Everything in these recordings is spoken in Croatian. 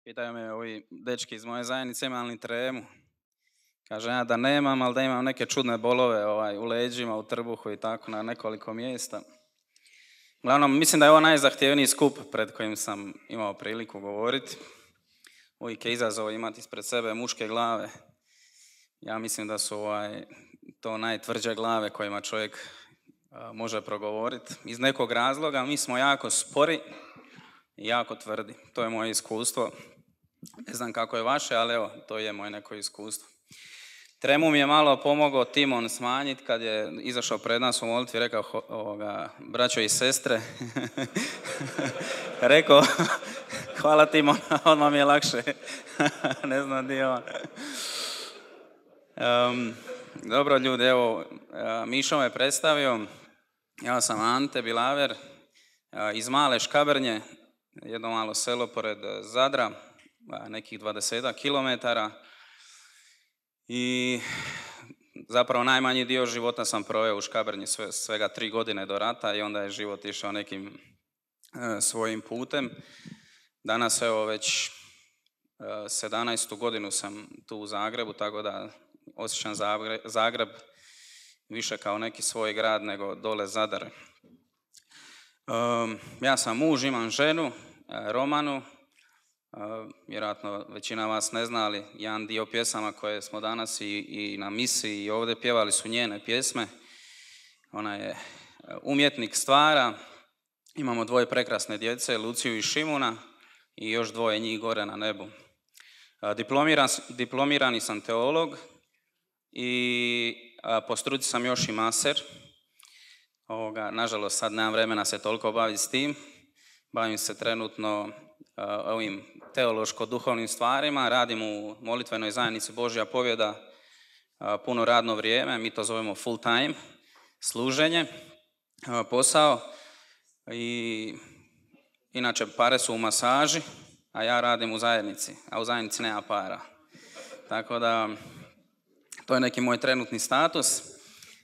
Pitaju me ovi dečki iz moje zajednice imam li tremu. Kažem ja da nemam, ali da imam neke čudne bolove u leđima, u trbuhu i tako na nekoliko mjesta. Uglavnom, mislim da je ovo najzahtjevniji skup pred kojim sam imao priliku govoriti. Uvijek je izazov imati ispred sebe muške glave. Ja mislim da su to najtvrđe glave kojima čovjek može progovoriti. Iz nekog razloga mi smo jako spori i jako tvrdi. To je moje iskustvo. Ne znam kako je vaše, ali evo, to je moje neko iskustvo. Tremu mi je malo pomogao Timon smanjiti kad je izašao pred nas u molitvi, rekao braćo i sestre. Rekao, hvala Timon, odmah mi je lakše. Ne znam gdje je on. Dobro ljudi, evo, Mišo me predstavio. Ja sam Ante Bilaver iz Male Škabrnje, jedno malo selo pored Zadra, nekih 20 kilometara. I zapravo najmanji dio života sam proveo u Škabrnji, svega 3 godine do rata i onda je život išao nekim svojim putem. Danas evo već 17. godinu sam tu u Zagrebu, tako da osjećam Zagreb više kao neki svoj grad nego dole Zadar. Ja sam muž, imam ženu, Romanu. Vjerojatno većina vas ne zna, ali jedan dio pjesama koje smo danas i na misiji i ovdje pjevali su njene pjesme. Ona je umjetnik stvara. Imamo 2 prekrasne djece, Luciju i Šimuna, i još 2 njih gore na nebu. Diplomirani sam teolog i po struci sam još i maser. Nažalost, sad nemam vremena se toliko baviti s tim. Bavim se trenutno ovim teološko-duhovnim stvarima. Radim u molitvenoj zajednici Božja pobjeda puno radno vrijeme. Mi to zovemo full time, služenje, posao. I inače pare su u masaži, a ja radim u zajednici, a u zajednici nema para. Tako da to je neki moj trenutni status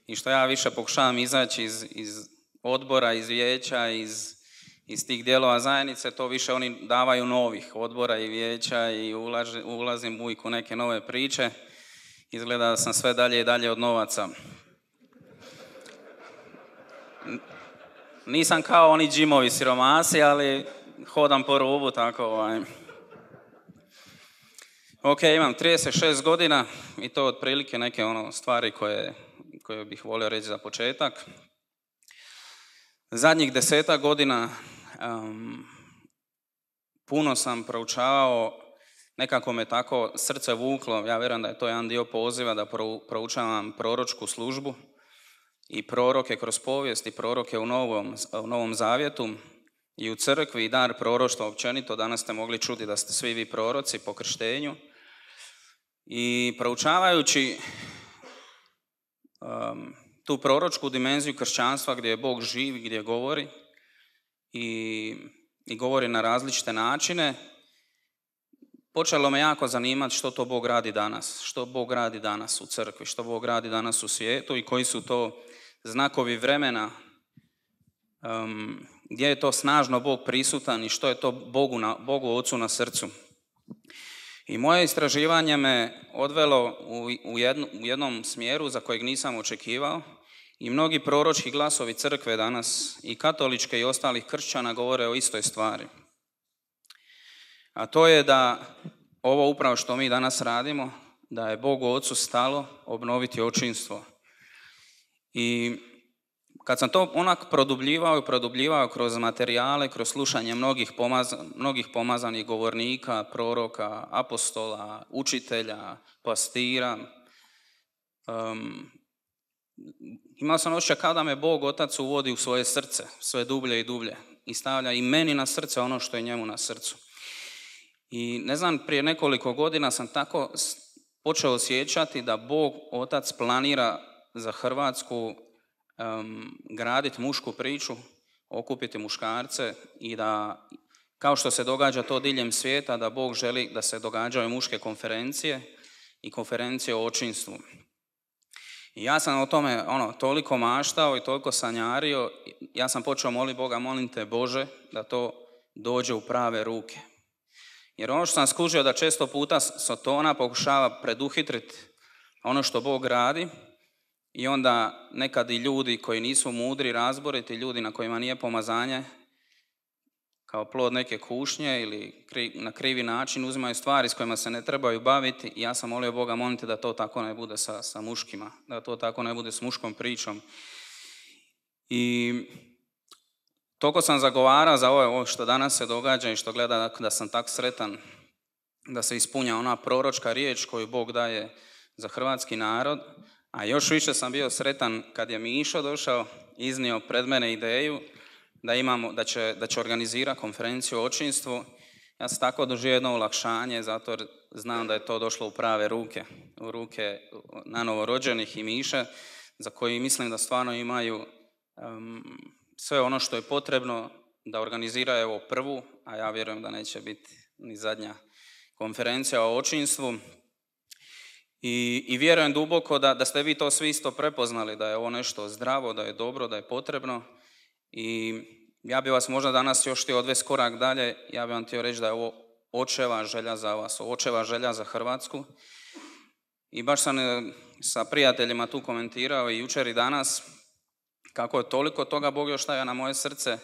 i što ja više pokušavam izaći iz odbora, iz vijeća, iz tih dijelova zajednice, to više oni davaju novih odbora i vijeća i ulazim uvijek u neke nove priče. Izgleda da sam sve dalje i dalje od novaca. Nisam kao oni džimovi siromasi, ali hodam po rubu, tako Ok, imam 36 godina i to otprilike neke stvari koje bih volio reći za početak. Zadnjih 10 godina puno sam proučavao, nekako me tako srce vuklo, ja vjerujem da je to jedan dio poziva da proučavam proročku službu i proroke kroz povijest i proroke u Novom Zavjetu i u crkvi i dar proroštva općenito. Danas ste mogli čuti da ste svi vi proroci po krštenju. I proučavajući tu proročku dimenziju kršćanstva gdje je Bog živ, gdje govori i govori na različite načine, počelo me jako zanimati što to Bog radi danas, što Bog radi danas u crkvi, što Bog radi danas u svijetu i koji su to znakovi vremena, gdje je to snažno Bog prisutan i što je to Bogu Ocu na srcu. I moje istraživanje me odvelo u jednom smjeru za kojeg nisam očekivao i mnogi proročki glasovi crkve danas i katoličke i ostalih kršćana govore o istoj stvari. A to je da ovo upravo što mi danas radimo, da je Bogu Ocu stalo obnoviti očinstvo. I kad sam to onak produbljivao kroz materijale, kroz slušanje mnogih pomazanih govornika, proroka, apostola, učitelja, pastira, imao sam osjećaj kao da me Bog Otac uvodi u svoje srce, sve dublje i dublje i stavlja i meni na srce ono što je njemu na srcu. I ne znam, prije nekoliko godina sam tako počeo osjećati da Bog Otac planira za Hrvatsku graditi mušku priču, okupiti muškarce i da, kao što se događa to diljem svijeta, da Bog želi da se događaju muške konferencije i konferencije o očinstvu. I ja sam o tome toliko maštao i toliko sanjario, ja sam počeo moliti Boga, molim te Bože da to dođe u prave ruke. Jer ono što sam skužio da često puta Sotona pokušava preduhitriti ono što Bog radi i onda nekad i ljudi koji nisu mudri, razboriti, ljudi na kojima nije pomazanje, kao plod neke kušnje ili na krivi način uzimaju stvari s kojima se ne trebaju baviti. I ja sam molio Boga, molite da to tako ne bude sa muškima, da to tako ne bude s muškom pričom. I toliko sam zagovarao za ovo što danas se događa i što gleda da sam tak sretan da se ispunja ona proročka riječ koju Bog daje za hrvatski narod. A još više sam bio sretan kad je Mišo došao, iznio pred mene ideju da će organizirati konferenciju o očinstvu. Ja sam tako doživio jedno olakšanje, zato jer znam da je to došlo u prave ruke, u ruke nanovorođenih i Miše, za koji mislim da stvarno imaju sve ono što je potrebno da organiziraju ovo prvu, a ja vjerujem da neće biti ni zadnja konferencija o očinstvu. I vjerujem duboko da ste vi to svi isto prepoznali, da je ovo nešto zdravo, da je dobro, da je potrebno. I ja bi vas možda danas još htio odvesti korak dalje, ja bi vam htio reći da je ovo očeva želja za vas, očeva želja za Hrvatsku. I baš sam sa prijateljima tu komentirao i jučer i danas, kako je toliko toga Bog još stavio na moje srce.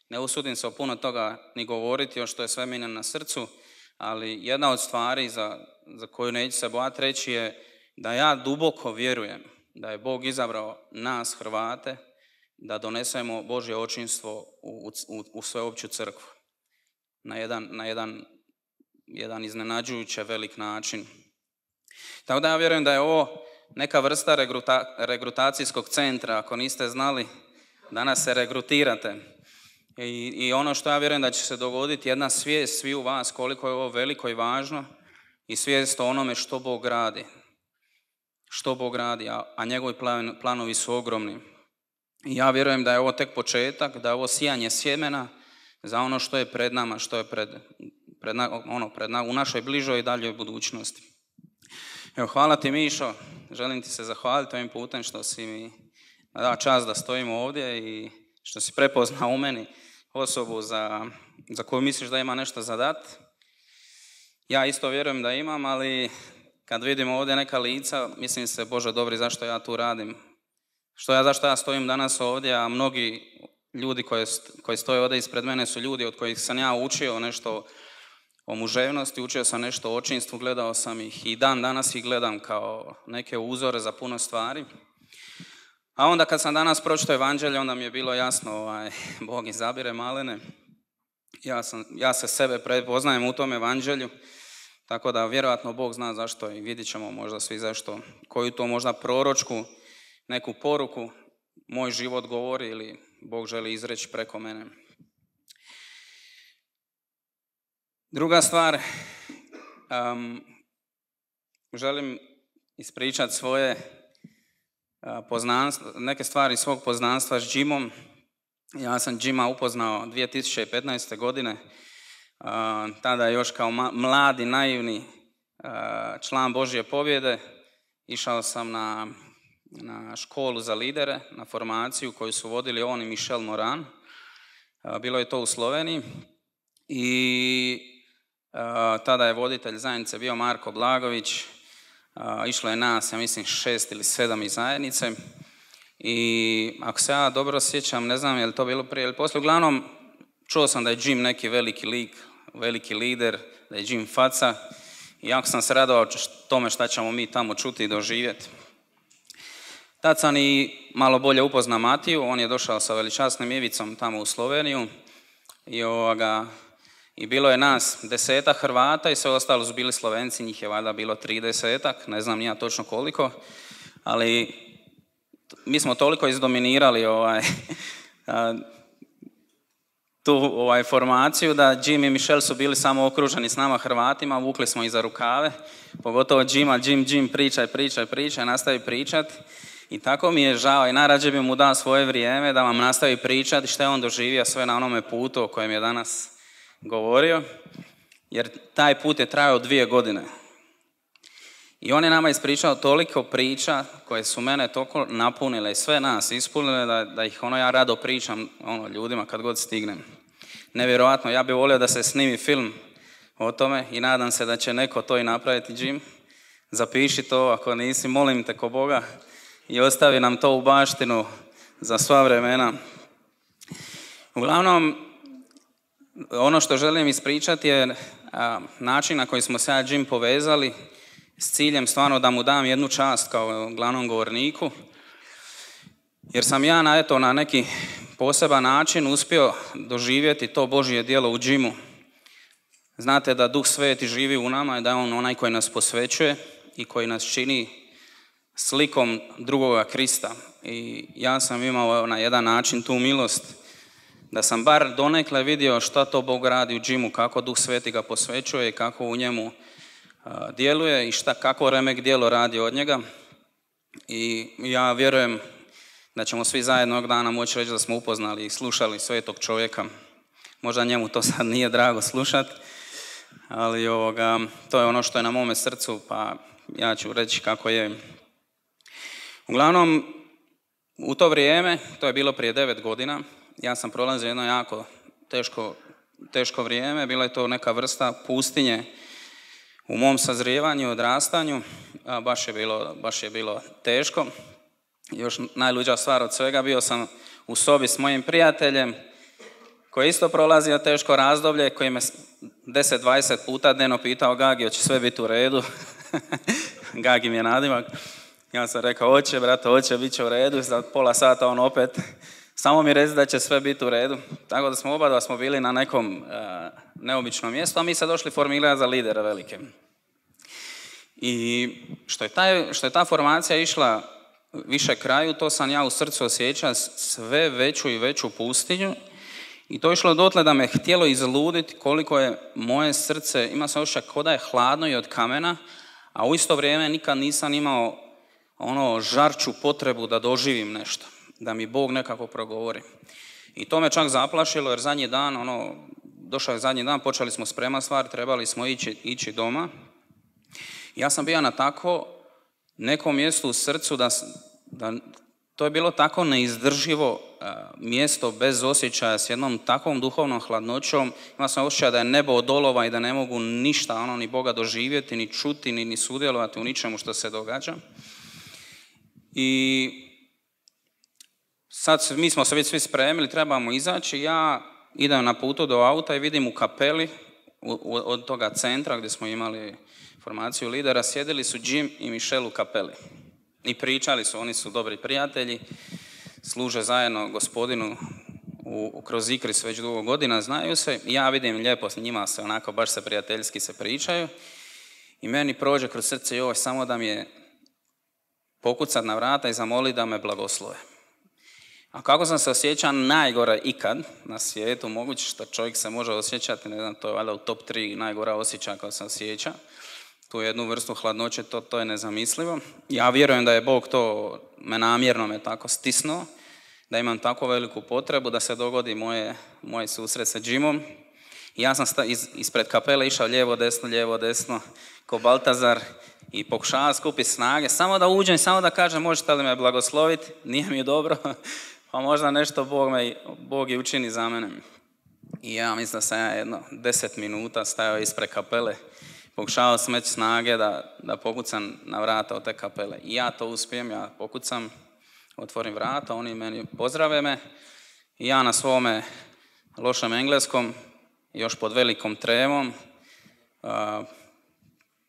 Ne usudim se o puno toga ni govoriti, još što je sve meni na srcu, ali jedna od stvari za koju neću se bojati reći je da ja duboko vjerujem da je Bog izabrao nas, Hrvate, da donesemo Božje očinstvo u sveopću crkvu. Na jedan iznenađujuće velik način. Tako da ja vjerujem da je ovo neka vrsta regrutacijskog centra. Ako niste znali, danas se regrutirate. I ono što ja vjerujem da će se dogoditi, jedna svijest svi u vas koliko je ovo veliko i važno i svijest o onome što Bog radi. Što Bog radi, a njegovi planovi su ogromni. I ja vjerujem da je ovo tek početak, da je ovo sijanje sjemena za ono što je pred nama, što je u našoj bližoj i daljoj budućnosti. Evo, hvala ti Mišo, želim ti se zahvaliti ovim putem što si mi dao čast da stojimo ovdje i što si prepoznao u meni osobu za koju misliš da ima nešto za dat. Ja isto vjerujem da imam, ali kad vidim ovdje neka lica, mislim se, Bože dobri, zašto ja tu radim? Zašto ja stojim danas ovdje, a mnogi ljudi koji stoje ovdje ispred mene su ljudi od kojih sam ja učio nešto o muževnosti, učio sam nešto o očinstvu, gledao sam ih i dan danas ih gledam kao neke uzore za puno stvari. A onda kad sam danas pročitao evanđelje, onda mi je bilo jasno, Bog izabire malene. Ja se sebe prepoznajem u tom evanđelju, tako da vjerojatno Bog zna zašto i vidjet ćemo možda svi zašto, koju to možda proročku, neku poruku moj život govori ili Bog želi izreći preko mene. Druga stvar, želim ispričati svoje poznanstvo, neke stvari svog poznanstva s Jimom. Ja sam Jima upoznao 2015. godine, tada još kao mladi, naivni član Božje pobjede. Išao sam na školu za lidere, na formaciju koju su vodili on i Michel Moran. Bilo je to u Sloveniji i tada je voditelj zajednice bio Marko Blagović. Išlo je nas, ja mislim, 6 ili 7 iz zajednice. I ako se ja dobro sjećam, ne znam je li to bilo prije ili poslije, uglavnom čuo sam da je Jim neki veliki lik, veliki lider, da je Jim faca. I jako sam se radovao tome šta ćemo mi tamo čuti i doživjeti. Tad sam i malo bolje upoznao Matiju, on je došao sa veličasnim Ivicom tamo u Sloveniju i bilo je nas 10 Hrvata i sve ostalo su bili Slovenci, njih je valjda bilo 30, ne znam ni ja točno koliko, ali mi smo toliko izdominirali tu formaciju da Jim i Michel su bili samo okruženi s nama Hrvatima, vukli smo ih za rukave, pogotovo Jima, Jim, pričaj, nastavi pričat. I tako mi je žao i najrađe bi mu dao svoje vrijeme da vam nastavi pričati što je on doživio sve na onome putu o kojem je danas govorio, jer taj put je trajao 2 godine. I on je nama ispričao toliko priča koje su mene toliko napunile i sve nas ispunile da ih ja rado pričam ljudima kad god stignem. Nevjerojatno, ja bih volio da se snimi film o tome i nadam se da će neko to i napraviti, Jim. Zapiši to, ako nisi, molim te ko Boga i ostavi nam to u baštinu za sva vremena. Uglavnom, ono što želim ispričati je način na koji smo se ja Jim povezali s ciljem stvarno da mu dam jednu čast kao glavnom govorniku. Jer sam ja na neki poseban način uspio doživjeti to Božje djelo u Jimu. Znate da Duh Sveti živi u nama i da je on onaj koji nas posvećuje i koji nas čini slikom drugoga Krista. I ja sam imao na jedan način tu milost da sam bar donekle vidio šta to Bog radi u Jimu, kako Duh Sveti ga posvećuje i kako u njemu djeluje i kako remek djelo radi od njega. I ja vjerujem da ćemo svi zajedno jednog dana moći reći da smo upoznali i slušali svetog čovjeka. Možda njemu to sad nije drago slušati, ali to je ono što je na mome srcu, pa ja ću reći kako je. Uglavnom, u to vrijeme, to je bilo prije 9 godina, ja sam prolazio jedno jako teško vrijeme, bila je to neka vrsta pustinje u mom sazrijevanju i odrastanju, baš je bilo teško. Još najluđa stvar od svega, bio sam u sobi s mojim prijateljem koji je isto prolazio teško razdoblje, koji me 10-20 puta dnevno pitao: Gagi, hoće sve biti u redu? Gagi mi je nadimak. Ja sam rekao: hoće, brate, hoće, bit će u redu. Za pola sata on opet: samo mi reci da će sve biti u redu. Tako da smo oba bili na nekom neobičnom mjestu, a mi se došli formirati za lidera velike. I što je ta formacija išla više kraju, to sam ja u srcu osjećao sve veću i veću pustinju. I to je išlo dotle da me htjelo izluditi koliko je moje srce, ima se osjećaj kao da je hladno i od kamena, a u isto vrijeme nikad nisam imao žarču potrebu da doživim nešto, da mi Bog nekako progovori. I to me čak zaplašilo, jer došao je zadnji dan, počeli smo spremati stvari, trebali smo ići doma. Ja sam bio na tako nekom mjestu u srcu da to je bilo tako neizdrživo mjesto bez osjećaja, s jednom takvom duhovnom hladnoćom. Imao sam osjećaj da je nebo od olova i da ne mogu ništa, ni Boga doživjeti, ni čuti, ni sudjelovati u ničemu što se događa. I sad mi smo se već svi spremili, trebamo izaći. Ja idem na putu do auta i vidim u kapeli od toga centra gdje smo imali formaciju lidera, sjedili su Jim i Michelle u kapeli. I pričali su, oni su dobri prijatelji, služe zajedno Gospodinu kroz Ikris već dugo godina, znaju se. Ja vidim lijepo s njima se baš se prijateljski se pričaju. I meni prođe kroz srce samo da mi je pokucat na vrata i zamoliti da me blagoslove. A kako sam se osjećao najgore ikad na svijetu, moguće što čovjek se može osjećati, ne znam, to je valjda u top 3 najgora osjećaja kao se osjeća. Tu jednu vrstu hladnoće, to je nezamislivo. Ja vjerujem da je Bog me namjerno tako stisnuo, da imam tako veliku potrebu da se dogodi moj susret sa Jimom. I ja sam ispred kapele išao lijevo, desno, ko Baltazar i pokušao skupiti snage, samo da uđem, samo da kažem: možete li me blagosloviti, nije mi dobro, pa možda nešto Bog i učini za mene. I ja mislim da sam jedno 10 minuta stajao ispred kapele, pokušao smeći snage da pokucam na vrata od te kapele. I ja to uspijem, ja pokucam, otvorim vrata, oni meni pozdrave me i ja na svome lošem engleskom, još pod velikom tremom,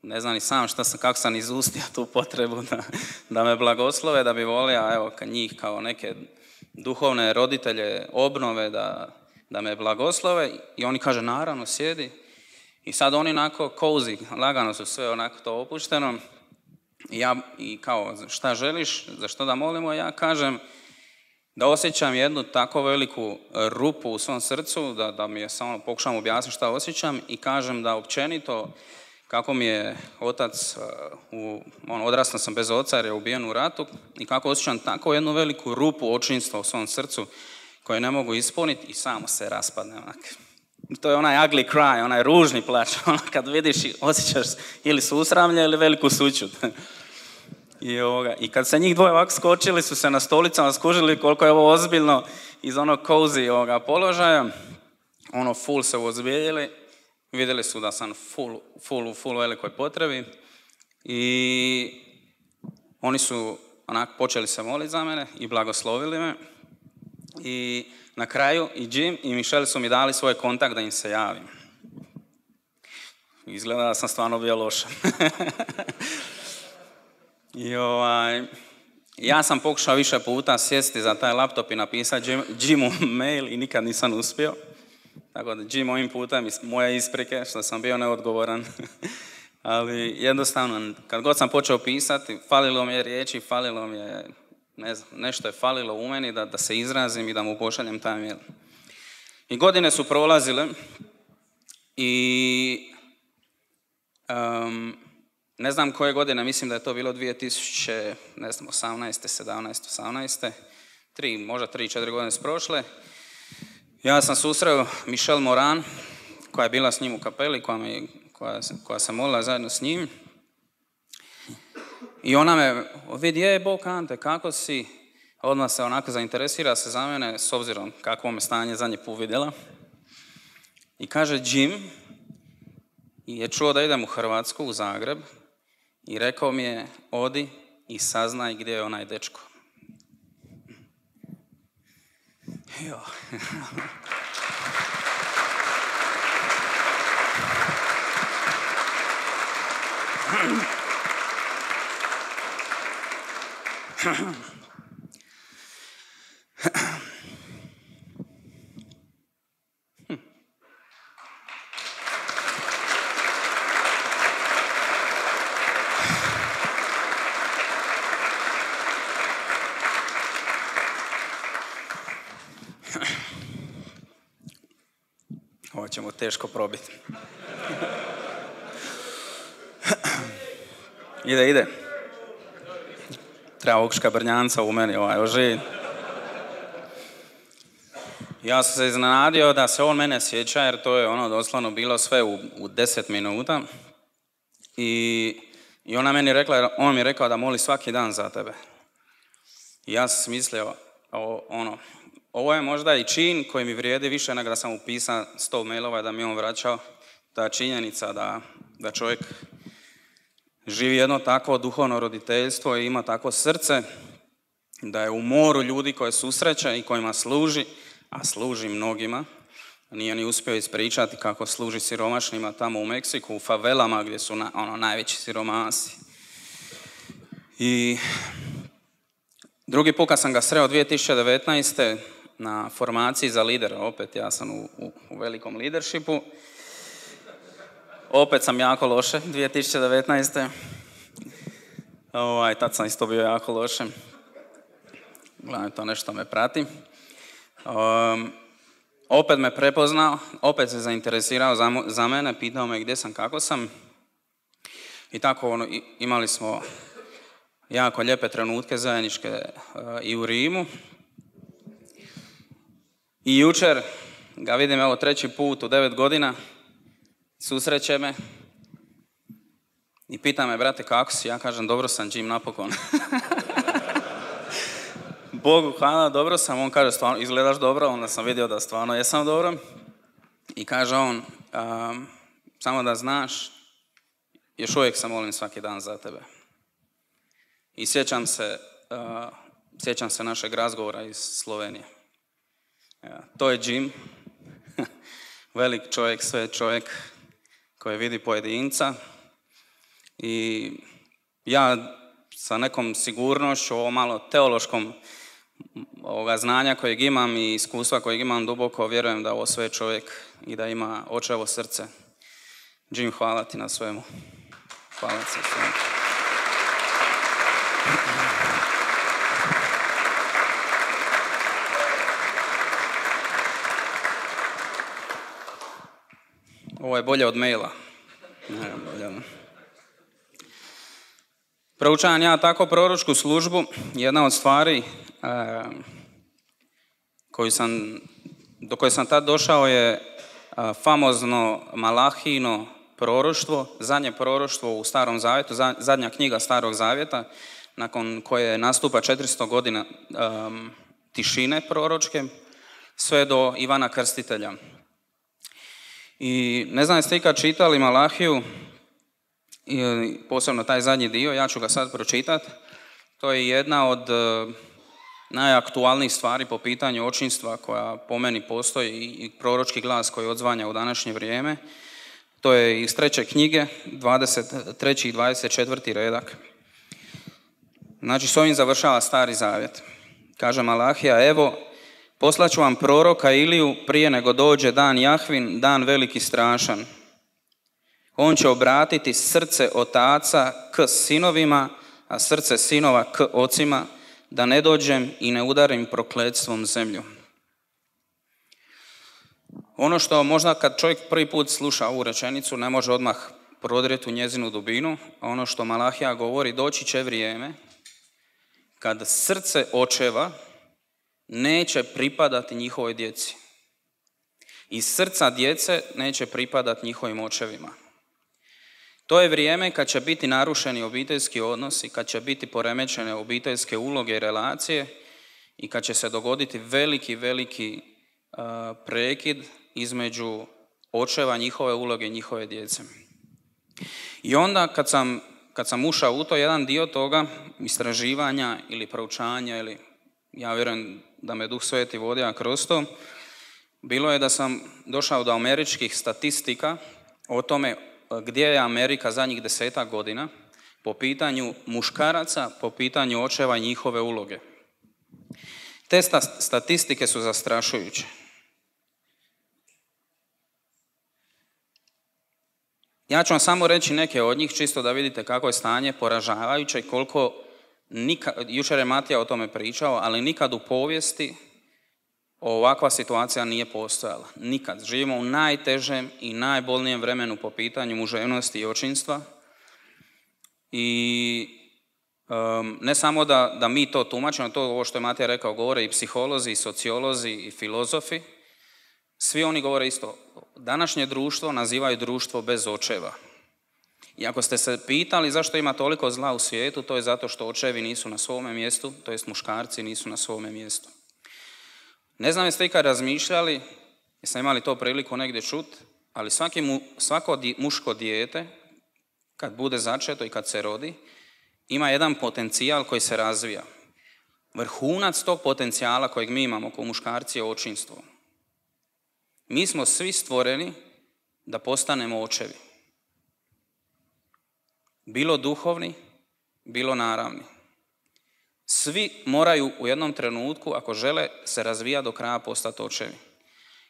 ne znam ni sam kako sam izustio tu potrebu da me blagoslove, da bi volio njih kao neke duhovne roditelje obnove da me blagoslove. I oni kaže: naravno, sjedi. I sad oni cozy, lagano su sve to opušteno. I kao: šta želiš, za što da molimo? Ja kažem da osjećam jednu tako veliku rupu u svom srcu, da mi je samo pokušam objasniti šta osjećam, i kažem da općenito kako mi je otac, odrastao sam bez oca jer je ubijen u ratu, i kako osjećam tako jednu veliku rupu očinstva u svom srcu koju ne mogu ispuniti, i samo se raspadne To je onaj ugly cry, onaj ružni plač, kad vidiš i osjećaš ili susramlje ili veliku sućut. I kad se njih dvoje ovako skočili, su se na stolicama skužili koliko je ovo ozbiljno iz onog cozy položaja, full se uozbiljili. vidjeli su da sam full velikoj potrebi i oni su onako počeli se moliti za mene i blagoslovili me. I na kraju i Jim i Michelle su mi dali svoj kontakt da im se javim. Izgleda da sam stvarno bio loša. I ja sam pokušao više puta sjesti za taj laptop i napisati Jimu mail i nikad nisam uspio. Tako da Jim, ovim putem moje isprike što sam bio neodgovoran. Ali jednostavno, kad god sam počeo pisati, falilo mi je riječi, falilo mi je, ne znam, nešto je falilo u meni da se izrazim i da mu pošaljem taj mail. I godine su prolazile i ne znam koje godine, mislim da je to bilo 2018, 17, 18, možda 3-4 godine su prošle. Ja sam susreo Michelle Moran, koja je bila s njim u kapeli, koja se molila zajedno s njim. I ona me vidi, Bog Ante, kako si? Odmah se onako zainteresira se za mene, s obzirom kakvo me stanje zadnji put vidjela. I kaže, Jim je čuo da idem u Hrvatsku, u Zagreb, i rekao mi je, odi i saznaj gdje je onaj dečko. Jo. Ovo ćemo teško probiti. Ide. Treba ovog škabrnjanca u meni oživi. Ja sam se iznenadio da se on mene sjeća, jer to je doslovno bilo sve u 10 minuta. I ona meni rekla, on mi je rekao da moli svaki dan za tebe. I ja sam mislio, ovo je možda i čin koji mi vrijedi više nego da sam upisao 100 mailova da mi on vraćao. Ta činjenica da čovjek živi jedno takvo duhovno roditeljstvo i ima takvo srce, da je u moru ljudi koje susreće i kojima služi, a služi mnogima. Nije ni uspio ispričati kako služi siromašnima tamo u Meksiku, u favelama gdje su najveći siromasi. I drugi put kad sam ga sreo 2019. na formaciji za lidera, opet ja sam u velikom leadershipu. Opet sam jako loše 2019. Tad sam isto bio jako loše. Gledam, to nešto me prati. Opet me prepoznao, opet se zainteresirao za mene, pitao me gdje sam, kako sam. I tako imali smo jako lijepe trenutke zajedničke i u Rimu. I jučer ga vidim, evo, 3. put u 9 godina, susreće me i pita me, brate, kako si? Ja kažem, dobro sam, Jim, napokon. Bogu hvala, dobro sam. On kaže, stvarno, izgledaš dobro. Onda sam vidio da stvarno jesam dobro. I kaže on, samo da znaš, još uvijek se molim svaki dan za tebe. I sjećam se našeg razgovora iz Slovenije. To je Jim, velik čovjek, sve čovjek koji vidi pojedinca. I ja sa nekom sigurnošću, ovo malo teološkom ovoga znanja kojeg imam i iskustva kojeg imam, duboko vjerujem da ovo sve čovjek i da ima očevo srce. Jim, hvala ti na svemu. Hvala ti na svemu. Ovo je bolje od maila. Proučavam ja tako proročku službu. Jedna od stvari do koje sam tad došao je famozno Malahijino proroštvo, zadnje proroštvo u Starom Zavjetu, zadnja knjiga Starog Zavjeta, nakon koje nastupa 400 godina tišine proročke, sve do Ivana Krstitelja. I ne znam jeste ikad čitali Malahiju, i posebno taj zadnji dio, ja ću ga sad pročitati. To je jedna od najaktualnijih stvari po pitanju očinstva koja po meni postoji i proročki glas koji odzvanja u današnje vrijeme. To je iz 3. knjige, 23. i 24. redak. Znači, s ovim završava Stari zavjet. Kaže Malahija, evo, poslaću vam proroka Iliju prije nego dođe dan Jahvin, dan veliki strašan. On će obratiti srce otaca k sinovima, a srce sinova k ocima, da ne dođem i ne udarim prokletstvom zemlju. Ono što možda kad čovjek prvi put sluša ovu rečenicu ne može odmah prodrijeti u njezinu dubinu, a ono što Malahija govori, doći će vrijeme kad srce očeva neće pripadati njihovoj djeci. I srca djece neće pripadati njihovim očevima. To je vrijeme kad će biti narušeni obiteljski odnosi, kad će biti poremećene obiteljske uloge i relacije i kad će se dogoditi veliki prekid između očeva, njihove uloge i njihove djece. I onda kad sam ušao u to, jedan dio toga istraživanja ili proučanja, ili ja vjerujem da me Duh Sveti vodio kroz to, bilo je da sam došao do američkih statistika o tome gdje je Amerika zadnjih 10 godina po pitanju muškaraca, po pitanju očeva i njihove uloge. Te statistike su zastrašujuće. Ja ću vam samo reći neke od njih, čisto da vidite kako je stanje poražavajuće i koliko, jučer je Matija o tome pričao, ali nikad u povijesti ovakva situacija nije postojala. Nikad. Živimo u najtežem i najbolnijem vremenu po pitanju muževnosti i očinstva. I ne samo da mi to tumačimo, to ovo što je Matija rekao, govore i psiholozi, i sociolozi, i filozofi. Svi oni govore isto. Današnje društvo nazivaju društvo bez očeva. I ako ste se pitali zašto ima toliko zla u svijetu, to je zato što očevi nisu na svome mjestu, to jest muškarci nisu na svome mjestu. Ne znam jeste ikad razmišljali, jesam imali to priliku negdje čuti, ali svako muško dijete, kad bude začeto i kad se rodi, ima jedan potencijal koji se razvija. Vrhunac tog potencijala kojeg mi imamo kao muškarci je očinstvo. Mi smo svi stvoreni da postanemo očevi. Bilo duhovni, bilo naravni. Svi moraju u jednom trenutku, ako žele se razvijati do kraja, postati očevi.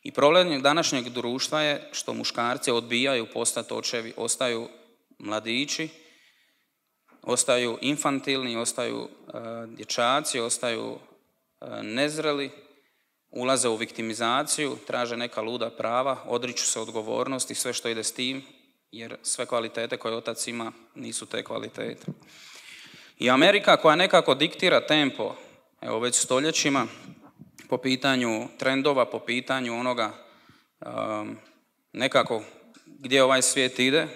I problem današnjeg društva je što muškarci odbijaju postati očevi, ostaju mladići, ostaju infantilni, ostaju dječaci, ostaju nezreli, ulaze u viktimizaciju, traže neka luda prava, odriču se odgovornosti i sve što ide s tim, jer sve kvalitete koje otac ima nisu te kvalitete. I Amerika koja nekako diktira tempo, evo već stoljećima, po pitanju trendova, po pitanju onoga nekako gdje ovaj svijet ide,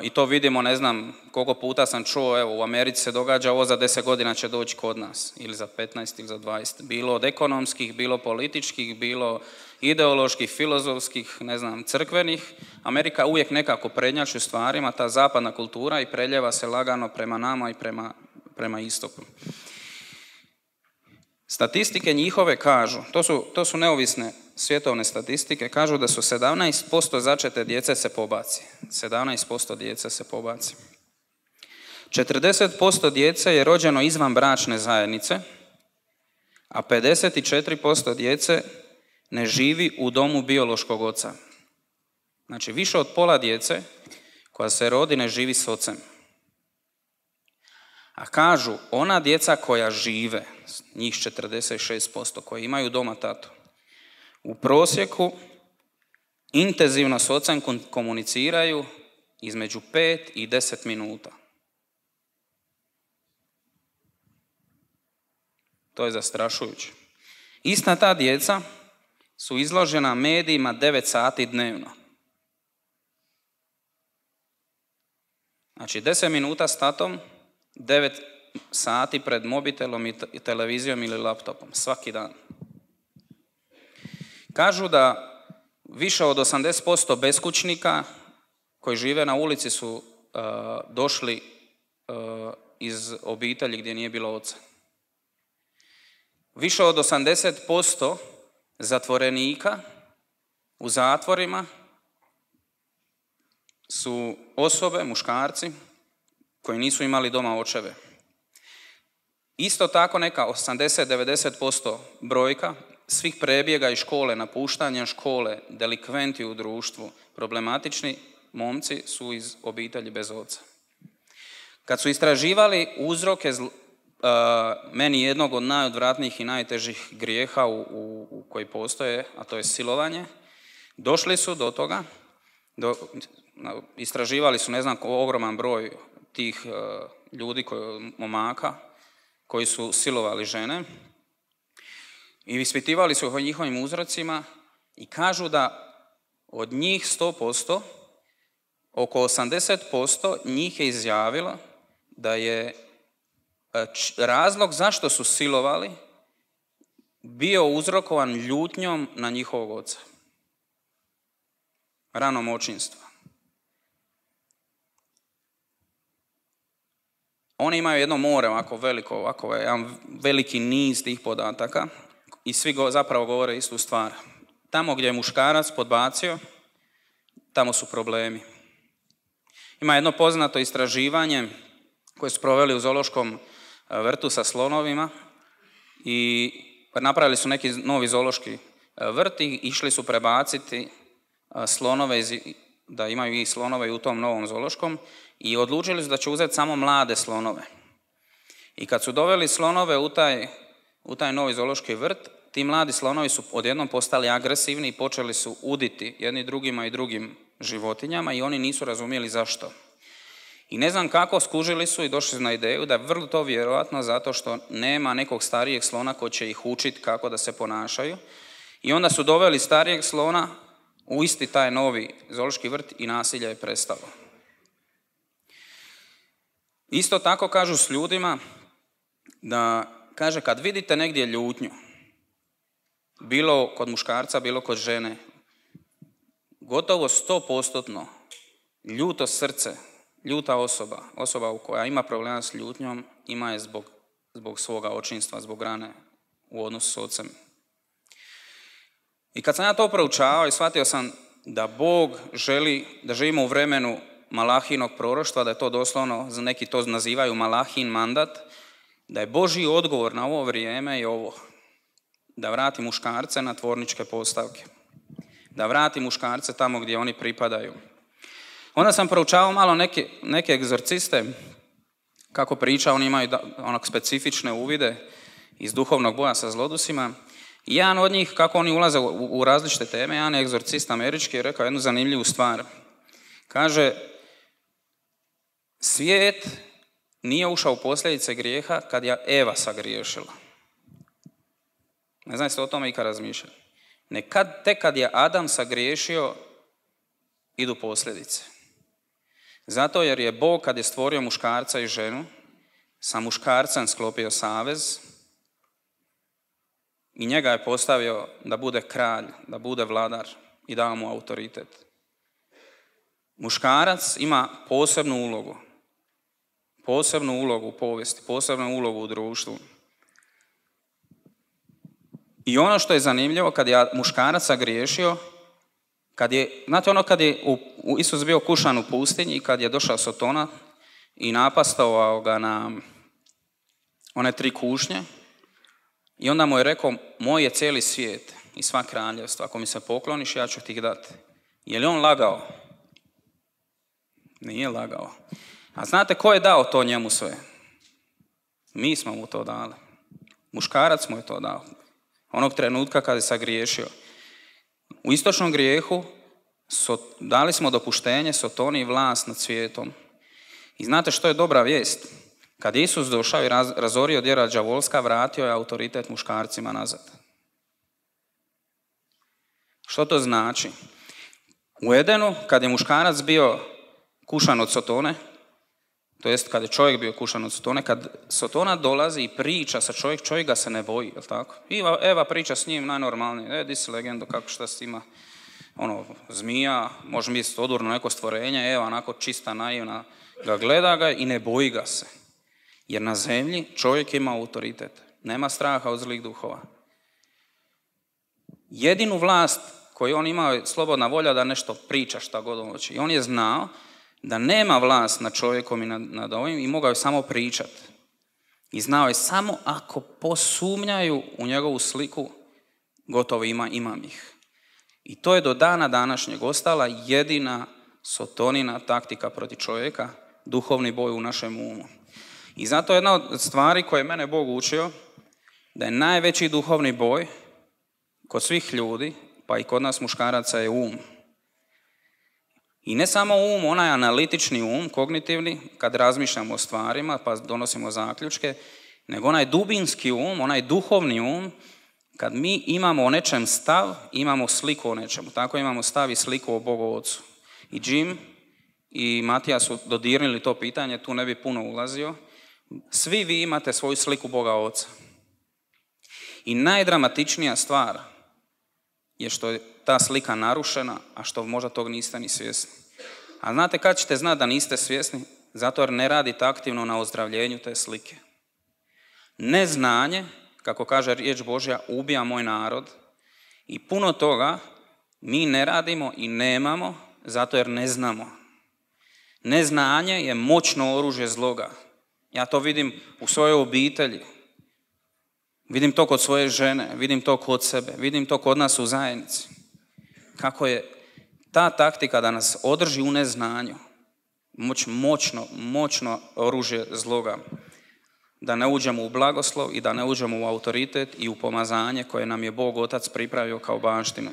i to vidimo, ne znam koliko puta sam čuo, evo u Americi se događa ovo za 10 godina će doći kod nas, ili za 15 ili za 20, bilo od ekonomskih, bilo političkih, bilo ideoloških, filozofskih, ne znam, crkvenih. Amerika uvijek nekako prednjači u stvarima, ta zapadna kultura, i preljeva se lagano prema nama i prema istoku. Statistike njihove kažu, to su neovisne svjetovne statistike, kažu da su 17% začete djece se pobaci. 17% djece se pobaci. 40% djece je rođeno izvan bračne zajednice, a 54% djece ne živi u domu biološkog oca. Znači, više od pola djece koja se rodi ne živi s ocem. A kažu, ona djeca koja žive, njih 46%, koji imaju doma tatu, u prosjeku intenzivno s ocem komuniciraju između 5 i 10 minuta. To je zastrašujuće. Ista ta djeca su izložena medijima 9 sati dnevno. Znači 10 minuta s tatom, 9 sati pred mobitelom i televizijom ili laptopom, svaki dan. Kažu da Više od 80% beskućnika koji žive na ulici su došli iz obitelji gdje nije bilo oca. Više od 80% zatvorenika u zatvorima su osobe, muškarci, koji nisu imali doma očeve. Isto tako neka 80-90% brojka svih prebjega iz škole, napuštanja škole, delikventi u društvu, problematični momci su iz obitelji bez oca. Kad su istraživali uzroke meni jednog od najodvratnijih i najtežih grijeha koji postoje, a to je silovanje, došli su do toga, istraživali su ne znam ogroman broj tih ljudi, momaka, koji su silovali žene i ispitivali su o njihovim uzrocima i kažu da od njih 100%, oko 80% njih je izjavilo da je razlog zašto su silovali bio uzrokovan ljutnjom na njihovog oca. Ranom očinstva. Oni imaju jedno more ovako veliko, ovako jedan veliki niz tih podataka i svi zapravo govore istu stvar. Tamo gdje je muškarac podbacio, tamo su problemi. Ima jedno poznato istraživanje koje su proveli u zoološkom vrtu sa slonovima i napravili su neki novi zoološki vrt i išli su prebaciti slonove, da imaju i slonove u tom novom zoološkom i odlučili su da će uzeti samo mlade slonove. I kad su doveli slonove u taj novi zoološki vrt, ti mladi slonovi su odjednom postali agresivni i počeli su uditi jedni drugima i drugim životinjama i oni nisu razumjeli zašto. I ne znam kako, skužili su i došli na ideju da je vrlo to vjerojatno zato što nema nekog starijeg slona koji će ih učiti kako da se ponašaju. I onda su doveli starijeg slona u isti taj novi zoološki vrt i nasilje je prestalo. Isto tako kažu s ljudima da, kaže, kad vidite negdje ljutnju, bilo kod muškarca, bilo kod žene, gotovo 100% ljuto srce, ljuta osoba koja ima problema s ljutnjom, ima je zbog svoga očinstva, zbog rane u odnosu s ocem. I kad sam ja to proučavao i shvatio sam da Bog želi da živimo u vremenu Malahinog proroštva, da je to doslovno, neki to nazivaju Malahin mandat, da je Božji odgovor na ovo vrijeme je ovo, da vrati muškarce na tvorničke postavke, da vrati muškarce tamo gdje oni pripadaju. Onda sam proučavao malo neke egzorciste, kako priča, oni imaju onak specifične uvide iz duhovnog boja sa zlodusima. I jedan od njih, kako oni ulaze u različite teme, jedan je egzorcist američki, je rekao jednu zanimljivu stvar. Kaže, svijet nije ušao u posljedice grijeha kad je Eva sagriješila. Ne znam jeste o tome ikad razmišljali. Tek kad je Adam sagriješio, idu posljedice. Zato jer je Bog, kad je stvorio muškarca i ženu, sa muškarcem sklopio savez i njega je postavio da bude kralj, da bude vladar i dao mu autoritet. Muškarac ima posebnu ulogu u povijesti, posebnu ulogu u društvu. I ono što je zanimljivo, kad je muškarac sagriješio, znate ono kad je Isus bio kušan u pustinji i kad je došao Sotona i napastovao ga na one 3 kušnje i onda mu je rekao, moj je cijeli svijet i sva kraljevstva, ako mi se pokloniš ja ću ti ih dati. Je li on lagao? Nije lagao. A znate ko je dao to njemu sve? Mi smo mu to dali. Muškarac mu je to dao. Onog trenutka kad je sagriješio. U istočnom grijehu dali smo dopuštenje Sotoni i vlast nad svijetom. I znate što je dobra vijest? Kad je Isus došao i razorio djela đavolska, vratio je autoritet muškarcima nazad. Što to znači? U Edenu, kad je muškarac bio kušan od Sotone, to jest kad je čovjek bio kušan od Sotone, kad Sotona dolazi i priča sa čovjek ga se ne boji, jel tako? I Eva priča s njim najnormalnije, di si legendo, kako šta s ima, zmija, može misliti odurno neko stvorenje, evo onako čista, naivna, gleda ga i ne boji ga se. Jer na zemlji čovjek ima autoritet, nema straha od zlih duhova. Jedinu vlast koju on imao je slobodna volja da nešto priča šta god on hoće. I on je znao da nema vlast nad čovjekom i nad ovim i mogao je samo pričati. I znao je samo ako posumnjaju u njegovu sliku, gotovo imam ih. I to je do dana današnjeg ostala jedina sotonina taktika protiv čovjeka, duhovni boj u našem umu. I zato jedna od stvari koje je mene Bog učio, da je najveći duhovni boj kod svih ljudi, pa i kod nas muškaraca, je um. I ne samo um, onaj analitični um, kognitivni, kad razmišljamo o stvarima pa donosimo zaključke, nego onaj dubinski um, onaj duhovni um, kad mi imamo o nečem stav, imamo sliku o nečemu. Tako imamo stav i sliku o Bogu Ocu. I Jim i Matija su dodirnili to pitanje, tu ne bi puno ulazio. Svi vi imate svoju sliku Boga Oca. I najdramatičnija stvar je što je ta slika narušena, a što možda tog niste ni svjesni. A znate kad ćete znati da niste svjesni? Zato jer ne radite aktivno na ozdravljenju te slike. Neznanje, kako kaže riječ Božja, ubija moj narod. I puno toga mi ne radimo i nemamo zato jer ne znamo. Neznanje je moćno oružje zloga. Ja to vidim u svojoj obitelji. Vidim to kod svoje žene, vidim to kod sebe, vidim to kod nas u zajednici. Kako je ta taktika da nas održi u neznanju, moćno oružje zloga. Da ne uđemo u blagoslov i da ne uđemo u autoritet i u pomazanje koje nam je Bog Otac pripravio kao baštinu.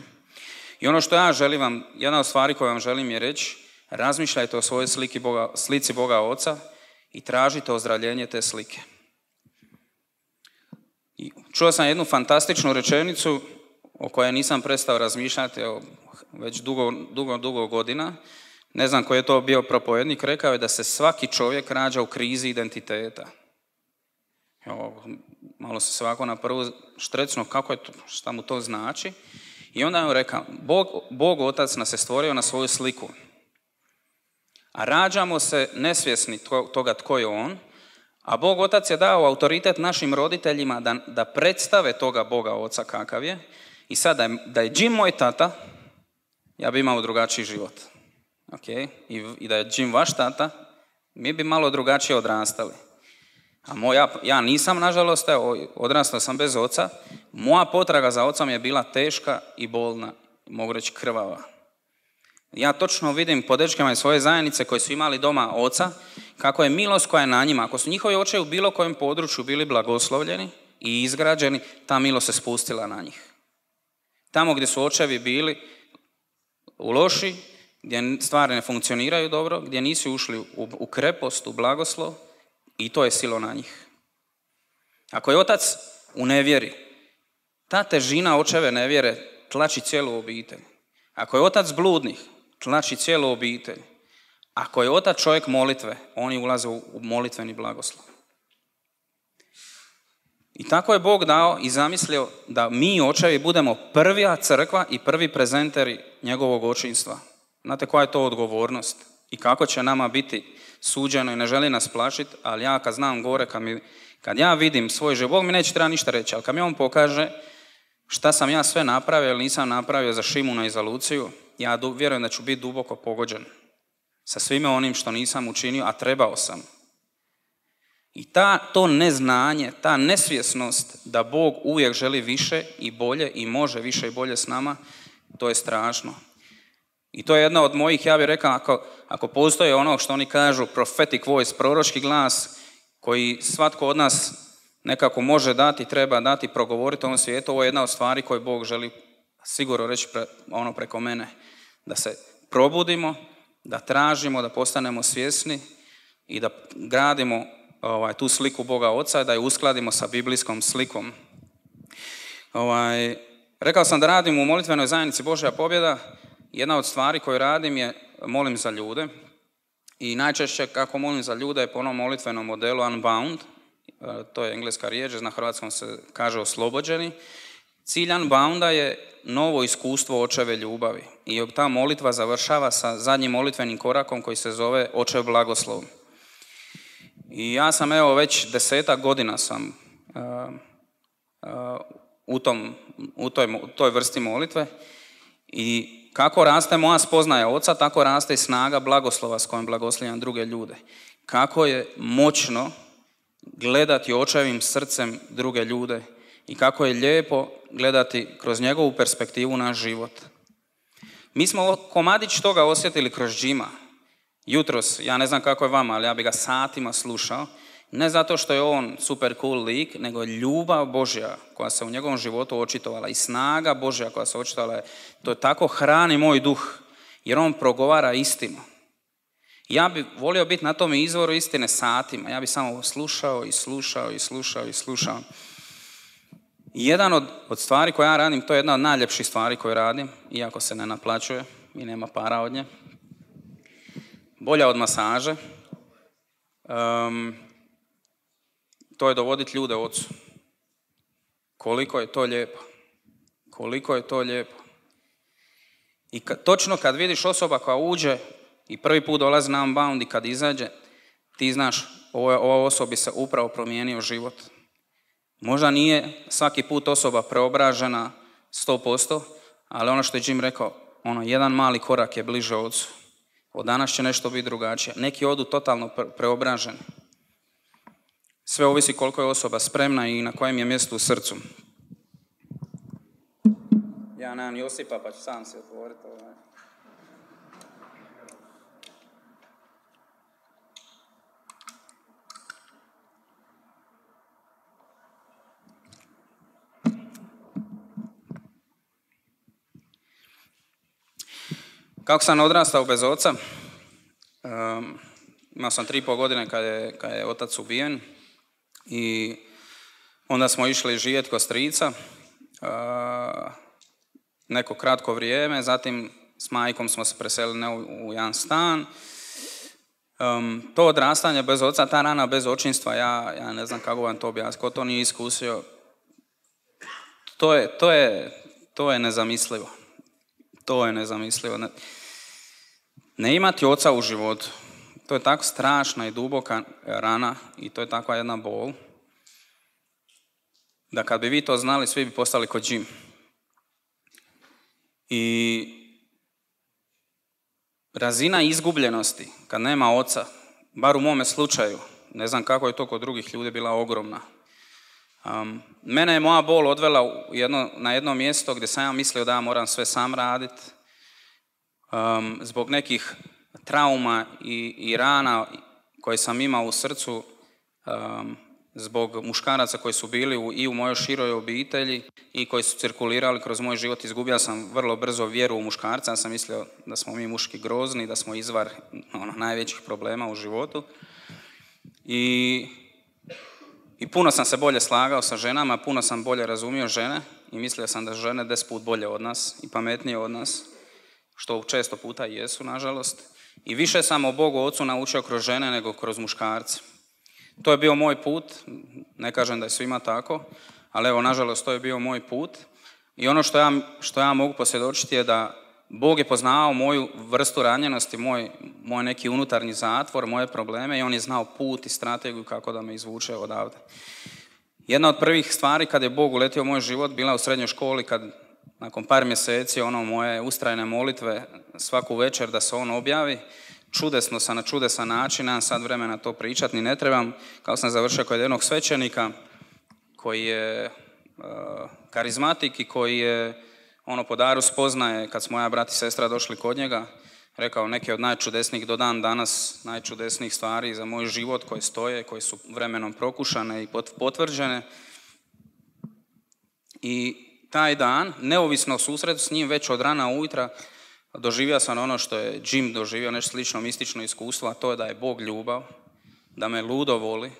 I ono što ja želim vam, jedna od stvari koju vam želim je reći, razmišljajte o svojoj slici Boga Oca i tražite ozdravljenje te slike. Čuo sam jednu fantastičnu rečenicu o kojoj nisam prestao razmišljati već dugo godina. Ne znam koji je to bio propovednik, rekao je da se svaki čovjek rađa u krizi identiteta. Malo se svako na prvu štrecno kako je to, šta mu to znači. I onda je on rekao, Bog Otac nas je stvorio na svoju sliku. A rađamo se nesvjesni toga tko je on, a Bog Otac je dao autoritet našim roditeljima da predstave toga Boga Oca kakav je. I sad da je Jim moj tata, ja bi imao drugačiji život. Okay? I da je Jim vaš tata, mi bi malo drugačije odrastali. A ja nisam, nažalost, odrastao sam bez oca. Moja potraga za ocom je bila teška i bolna, mogu reći krvava. Ja točno vidim po dečkama iz svoje zajednice koji su imali doma oca, kako je milost koja je na njima. Ako su njihovi očevi u bilo kojem području bili blagoslovljeni i izgrađeni, ta milost se spustila na njih. Tamo gdje su očevi bili loši, gdje stvari ne funkcioniraju dobro, gdje nisu ušli u krepost, u blagoslov, i to je silo na njih. Ako je otac u nevjeri, ta težina očeve nevjere tlači cijelu obitelj. Ako je otac bludnih, tlači cijelu obitelj. Ako je otac čovjek molitve, oni ulaze u molitveni blagoslov. I tako je Bog dao i zamislio da mi očevi budemo prva crkva i prvi prezenteri njegovog očinstva. Znate koja je to odgovornost i kako će nama biti suđeno i ne želi nas plašiti, ali ja kad znam gore, kad ja vidim svoj život, Bog mi neće treba ništa reći, ali kad mi on pokaže šta sam ja sve napravio ili nisam napravio za Šimuna i za Luciju, ja vjerujem da ću biti duboko pogođen sa svime onim što nisam učinio, a trebao sam. I to neznanje, ta nesvjesnost da Bog uvijek želi više i bolje i može više i bolje s nama, to je strašno. I to je jedna od mojih, ja bih rekao, ako postoji ono što oni kažu prophetic voice, proročki glas, koji svatko od nas nekako može dati, treba dati, progovoriti o ovom svijetu, ovo je jedna od stvari koje Bog želi sigurno reći preko mene. Da se probudimo, da tražimo, da postanemo svjesni i da gradimo tu sliku Boga Oca i da je uskladimo sa biblijskom slikom. Rekao sam da radim u molitvenoj zajednici Božja pobjeda. Jedna od stvari koju radim je molim za ljude. I najčešće kako molim za ljude je po onom molitvenom modelu Unbound. To je engleska riječ, na hrvatskom se kaže oslobođeni. Cilj Unbounda je novo iskustvo očeve ljubavi i ta molitva završava sa zadnjim molitvenim korakom koji se zove Očev blagoslov. I ja sam već 10 godina sam u toj vrsti molitve i kako raste moja spoznaja Oca, tako raste i snaga blagoslova s kojim blagoslovljam druge ljude. Kako je moćno gledati očevim srcem druge ljude i kako je lijepo gledati kroz njegovu perspektivu naš život. Mi smo komadić toga osjetili kroz Jima. Jutros, ja ne znam kako je vama, ali ja bi ga satima slušao. Ne zato što je on super cool lik, nego ljubav Božja koja se u njegovom životu očitovala i snaga Božja koja se očitovala. To tako hrani moj duh, jer on progovara istinu. Ja bi volio biti na tom izvoru istine satima. Ja bi samo slušao. Jedan od stvari koje ja radim, to je jedna od najljepših stvari koje radim, iako se ne naplaćuje i nema para od nje. Bolja od masaže. To je dovoditi ljude Ocu. Koliko je to lijepo. I točno kad vidiš osoba koja uđe i prvi put dolazi na Unbound i kad izađe, ti znaš, ova osobi se upravo promijenio život. Možda nije svaki put osoba preobražena 100%, ali ono što je Jim rekao, jedan mali korak je bliže Ocu. Od danas će nešto biti drugačije. Neki odu totalno preobraženi. Sve ovisi koliko je osoba spremna i na kojem je mjestu u srcu. Ja nemam Josipa, pa ću sam se otvoriti. Kako sam odrastao bez oca, imao sam 3,5 godine kad je otac ubijen i onda smo išli živjeti kod strica neko kratko vrijeme, zatim s majkom smo se preselili u jedan stan. To odrastanje bez oca, ta rana bez očinstva, ja ne znam kako vam to objasniti, ko to nije iskusio, to je nezamislivo. To je nezamislivo. Ne imati oca u životu, to je tako strašna i duboka rana i to je takva jedna bol, da kad bi vi to znali, svi bi postali kod Jim. I razina izgubljenosti, kad nema oca, bar u mome slučaju, ne znam kako je to kod drugih ljudi, bila ogromna. Mene je moja bol odvela na jedno mjesto gdje sam ja mislio da ja moram sve sam raditi. Zbog nekih trauma i rana koje sam imao u srcu, zbog muškaraca koji su bili i u mojoj široj obitelji i koji su cirkulirali kroz moj život, izgubio sam vrlo brzo vjeru u muškarca. Ja sam mislio da smo mi muški grozni, da smo izvar najvećih problema u životu. I puno sam se bolje slagao sa ženama, puno sam bolje razumio žene i mislio sam da žene 10 put bolje od nas i pametnije od nas, što često puta i jesu, nažalost. I više sam o Bogu Ocu naučio kroz žene nego kroz muškarce. To je bio moj put, ne kažem da je svima tako, ali evo, nažalost, to je bio moj put. I ono što ja mogu posvjedočiti je da Bog je poznavao moju vrstu ranjenosti, moj neki unutarnji zatvor, moje probleme i on je znao put i strategiju kako da me izvuče odavde. Jedna od prvih stvari kad je Bog uletio u moj život bila u srednjoj školi, kad nakon par mjeseci moje ustrajne molitve svaku večer da se on objavi, čudesno sam na čudesan način, nemam sad vremena to pričati, ni ne trebam, kao sam završio kod jednog svećenika koji je karizmatik i koji je po daru spoznaje, kad smo ja brat i sestra došli kod njega, rekao neke od najčudesnijih do dan danas, najčudesnijih stvari za moj život koje stoje, koje su vremenom prokušane i potvrđene. I taj dan, neovisno o susretu s njim, već od rana ujutra, doživio sam ono što je Jim doživio, nešto slično mistično iskustvo, a to je da je Bog ljubav, da me ludo voli,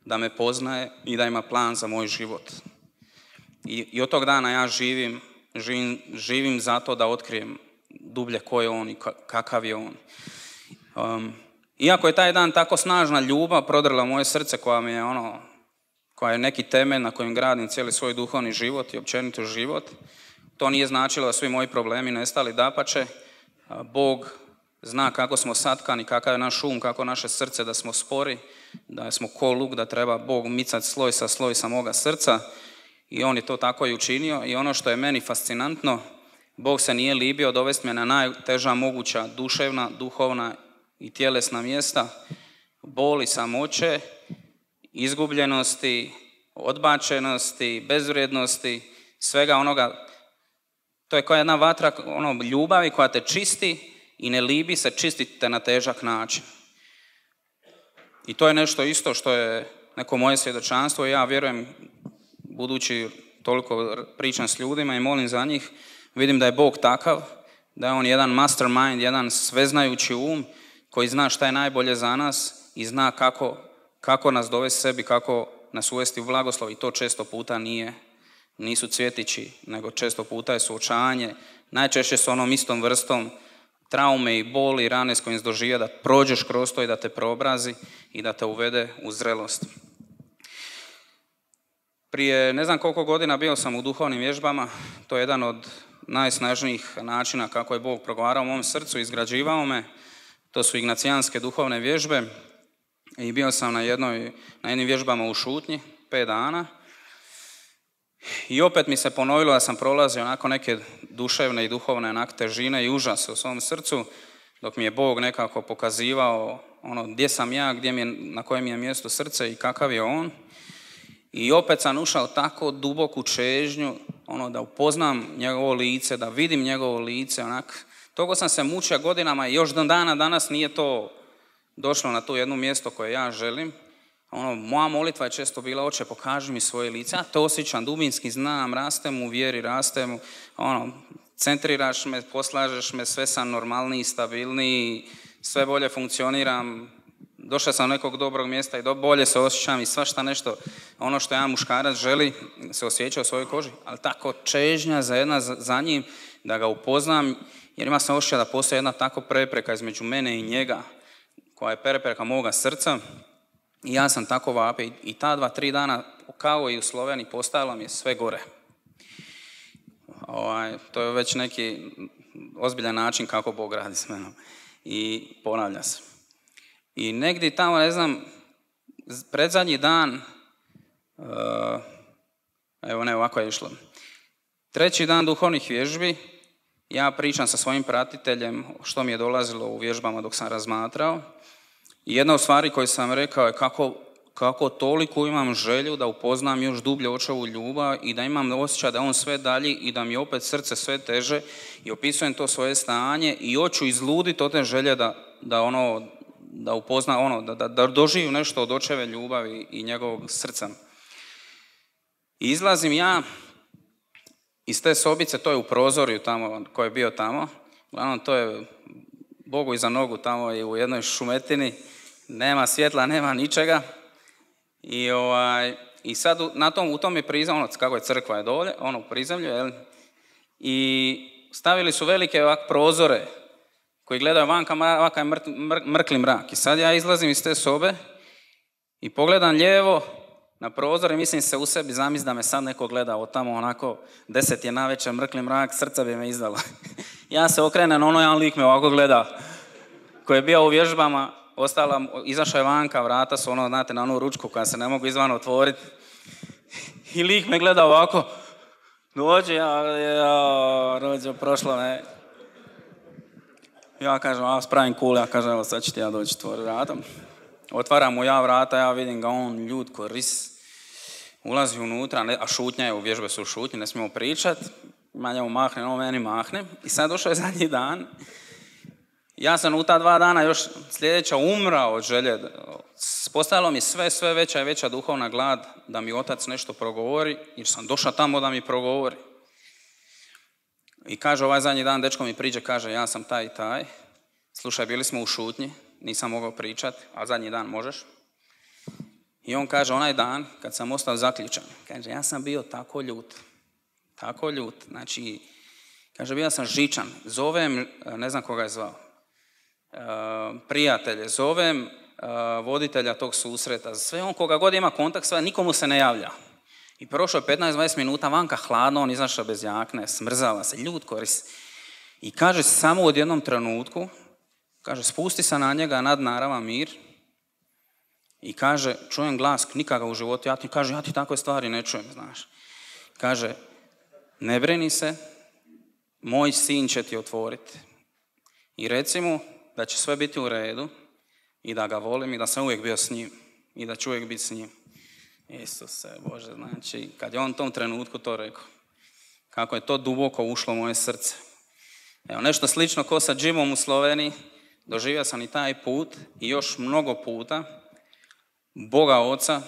da me poznaje i da ima plan za moj život. I od tog dana ja živim zato da otkrijem dublje ko je on i kakav je on. Iako je taj dan tako snažna ljubav prodrla moje srce koja mi je koja je neki temelj na kojem gradim cijeli svoj duhovni život i općenito život. To nije značilo da svi moji problemi nestali, dapače. Bog zna kako smo satkani, kakav je naš kako naše srce, da smo spori, da smo ko luk, da treba Bog micati sloj sa moga srca. I on je to tako i učinio. I ono što je meni fascinantno, Bog se nije libio dovesti me na najteža moguća duševna, duhovna i tjelesna mjesta, boli, samoće, izgubljenosti, odbačenosti, bezvrijednosti, svega onoga. To je kao jedna vatra ljubavi koja te čisti i ne libi se čistiti te na težak način. I to je nešto isto što je neko moje svjedočanstvo i ja vjerujem, budući toliko pričam s ljudima i molim za njih, vidim da je Bog takav, da je on jedan mastermind, jedan sveznajući koji zna šta je najbolje za nas i zna kako nas dovesti sebi, kako nas uvesti u blagoslov i to često puta nisu cvjetići, nego često puta je suočavanje, najčešće s onom istom vrstom traume i boli i rane s kojim doživio da prođeš kroz to i da te preobrazi i da te uvede u zrelost. Prije ne znam koliko godina bio sam u duhovnim vježbama, to je jedan od najsnažnijih načina kako je Bog progovarao u mom srcu, izgrađivao me, to su ignacijanske duhovne vježbe i bio sam na jednim vježbama u šutnji, 5 dana i opet mi se ponovilo da sam prolazio onako neke duševne i duhovne težine i užase u svom srcu, dok mi je Bog nekako pokazivao gdje sam ja, na kojem je mjestu srce i kakav je on. I opet sam ušao tako duboku čežnju, da upoznam njegovo lice, da vidim njegovo lice, Toliko sam se mučio godinama i još do dana danas nije to došlo na to jedno mjesto koje ja želim. Moja molitva je često bila, Oče, pokaži mi svoje lice. Ja to osjećam, dubinski znam, rastem u vjeri, rastem, centriraš me, poslažeš me, sve sam normalniji, stabilniji, sve bolje funkcioniram. Došao sam do nekog dobrog mjesta i bolje se osjećam i svašta nešto, ono što jedan muškarac želi, se osjeća u svojoj koži. Ali tako čežnja za njim, da ga upoznam, jer ima sam osjećaj da postoji jedna tako prepreka između mene i njega, koja je prepreka moga srca. I ja sam tako vapio i ta 2-3 dana, kao i u Sloveniji, postajalo mi je sve gore. To je već neki ozbiljan način kako Bog radi s menom. I ponavlja se. I negdje tamo, ne znam, predzadnji dan, ovako je išlo. 3. dan duhovnih vježbi, ja pričam sa svojim pratiteljem što mi je dolazilo u vježbama dok sam razmatrao. I jedna od stvari koju sam rekao je kako toliko imam želju da upoznam još dublje Očevu ljubav i da imam osjećaj da on sve dalji i da mi opet srce sve teže i opisujem to svoje stanje i hoću izluditi od te želje da upozna da doživim nešto od Očeve ljubavi i njegovog srca. I izlazim ja iz te sobice, to je u prozorju tamo, koji je bio tamo, uglavnom to je Bogu iza nogu tamo i u jednoj šumetini, nema svjetla, nema ničega. I sad u tom je prizemlju, kako je crkva je dolje, u prizemlju, i stavili su velike prozore koji gledaju vanka, ovakav je mrkli mrak. I sad ja izlazim iz te sobe i pogledam lijevo na prozor i mislim se u sebi, zamisli da me sad neko gleda od tamo, 10 je navečer, mrkli mrak, srce bi me izdalo. Ja se okrenem, jedan lik me ovako gleda, koji je bio u vježbama, izašao je vanka, vrata su znate, na onu ručku koja se ne mogu izvana otvoriti. I lik me gleda ovako, dođe, rođe, prošlo me. Ja kažem, spravim cool, ja kažem, evo sad ću ti ja doći tvori vratom. Otvaram mu ja vrata, ja vidim ga on ljud ko ris. Ulazi unutra, a šutnja je, u vježbe su šutnje, ne smijemo pričat. Ma njemu mahne, on meni mahne. I sad došao je zadnji dan. Ja sam u ta 2 dana još sljedeća umrao od želje. Postavilo mi sve veća i veća duhovna glad da mi Otac nešto progovori, jer sam došao tamo da mi progovori. I kaže, ovaj zadnji dan dečko mi priđe, kaže, ja sam taj i taj. Slušaj, bili smo u šutnji, nisam mogao pričati, a zadnji dan možeš. I on kaže, onaj dan kad sam ostao zaključan, kaže, ja sam bio tako ljut. Znači, kaže, bio sam žičan. Zovem, ne znam koga je zvao, prijatelje, zovem voditelja tog susreta. Sve on koga god ima kontakt, sve, nikomu se ne javlja. I prošlo je 15-20 minuta, vanka hladno, on izašao bez jakne, smrzava se, ljud koristi. I kaže samo u jednom trenutku, kaže spusti se na njega nadnaravan mir i kaže čujem glas, nikada u životu, ja ti takve stvari ne čujem, znaš. Kaže ne brini se, moj sin će ti otvoriti i reci mu da će sve biti u redu i da ga volim i da sam uvijek bio s njim i da ću uvijek biti s njim. Isuse Bože, znači kad je on u tom trenutku to rekao, kako je to duboko ušlo u moje srce. Evo, nešto slično ko sa Jimom u Sloveniji, doživio sam i taj put i još mnogo puta Boga Oca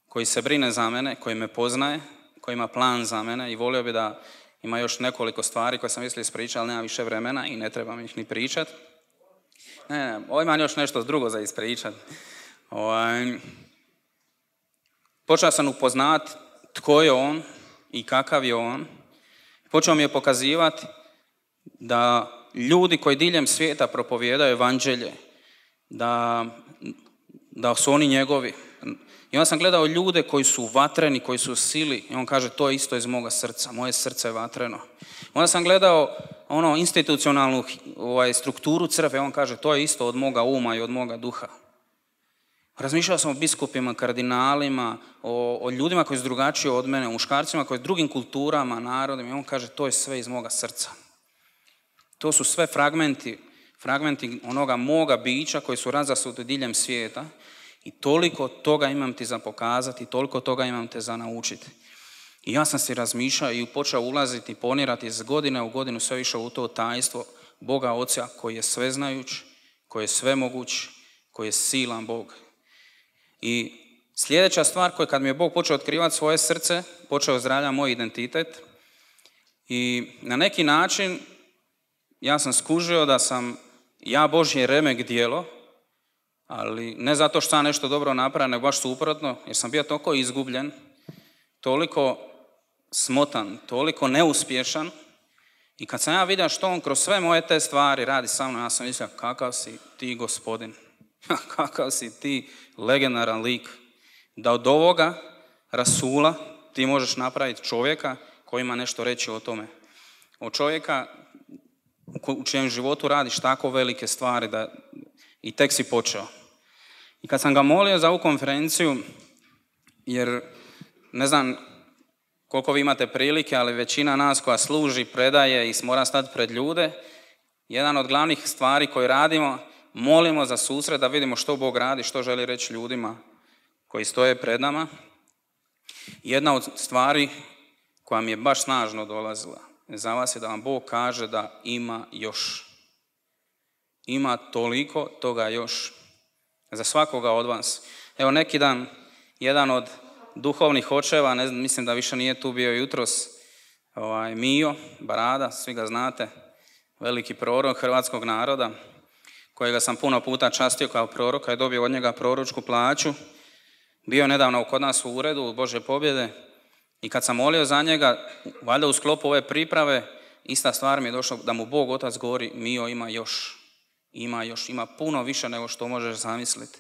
koji se brine za mene, koji me poznaje, koji ima plan za mene i volio bi da ima još nekoliko stvari koje sam mislio ispričati, ali nema više vremena i ne trebam ih ni pričati. Ovo imam još nešto drugo za ispričati. Počeo sam upoznati tko je on i kakav je on. Počeo mi je pokazivati da ljudi koji diljem svijeta propovijedaju evanđelje, da su oni njegovi. I onda sam gledao ljude koji su vatreni, koji su u sili i on kaže to je isto iz moga srca, moje srce je vatreno. Onda sam gledao institucionalnu strukturu crkve, on kaže to je isto od moga uma i od moga duha. Razmišljao sam o biskupima, kardinalima, o ljudima koji su drugačiji od mene, o muškarcima koji su drugim kulturama, narodima i on kaže to je sve iz moga srca. To su sve fragmenti onoga moga bića koji su razasuti diljem svijeta i toliko toga imam ti za pokazati, toliko toga imam te za naučiti. I ja sam si razmišljao i počeo ulaziti, ponirati iz godine u godinu sve više u to tajstvo Boga Oca koji je sveznajuć, koji je svemoguć, koji je silan Bog. I sljedeća stvar koja kad mi je Bog počeo otkrivati svoje srce, počeo ozdravljati moj identitet i na neki način ja sam skužio da sam ja Božje remek djelo, ali ne zato što sam nešto dobro napravio, nego baš suprotno, jer sam bio toliko izgubljen, toliko smotan, toliko neuspješan i kad sam ja vidio što on kroz sve moje te stvari radi sa mnom, ja sam mislio kakav si ti gospodin, kakav si ti legendaran lik, da od ovoga rasula ti možeš napraviti čovjeka koji ima nešto reći o tome. Od čovjeka u čijem životu radiš tako velike stvari da i tek si počeo. I kad sam ga molio za ovu konferenciju, jer ne znam koliko vi imate prilike, ali većina nas koja služi, predaje i mora stati pred ljude, jedan od glavnih stvari koje radimo, molimo za susret da vidimo što Bog radi, što želi reći ljudima koji stoje pred nama. Jedna od stvari koja mi je baš snažno dolazila za vas je da vam Bog kaže da ima još. Ima toliko toga još za svakoga od vas. Evo neki dan, jedan od duhovnih očeva, mislim da više nije tu bio jutros, Mio Barada, svi ga znate, veliki prorok hrvatskog naroda, kojega sam puno puta častio kao proroka i dobio od njega proročku plaću. Bio nedavno kod nas u uredu u Božje pobjede i kad sam molio za njega, valjda u sklopu ove priprave, ista stvar mi je došla da mu Bog Otac govori Mio ima još, ima puno više nego što možeš zamisliti.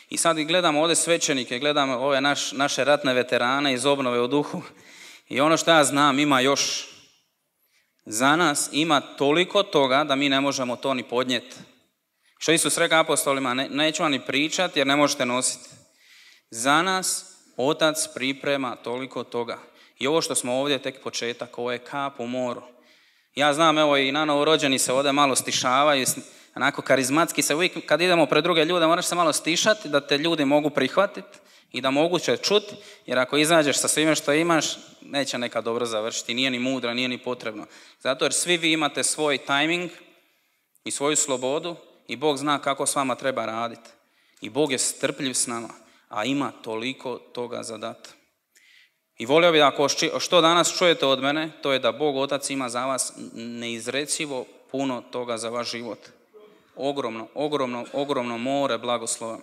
I sad gledam ovdje svećenike, gledam ove naše ratne veterane iz obnove u duhu i ono što ja znam ima još. Za nas ima toliko toga da mi ne možemo to ni podnijeti. Što Isus rekao apostolima, neću vam ni pričati jer ne možete nositi. Za nas Otac priprema toliko toga. I ovo što smo ovdje tek početak, ovo je kap u moru. Ja znam, evo i na novorođeni se ovdje malo stišavaju, onako karizmatski se uvijek, kad idemo pred druge ljude, moraš se malo stišati da te ljudi mogu prihvatiti i da mogu će čuti, jer ako izađeš sa svime što imaš, neće nekad dobro završiti, nije ni mudro, nije ni potrebno. Zato jer svi vi imate svoj tajming i svoju slobodu i Bog zna kako s vama treba raditi. I Bog je strpljiv s nama, a ima toliko toga za dati. I volio bih ako što danas čujete od mene, to je da Bog Otac ima za vas neizrecivo puno toga za vaš život. Ogromno more blagoslova.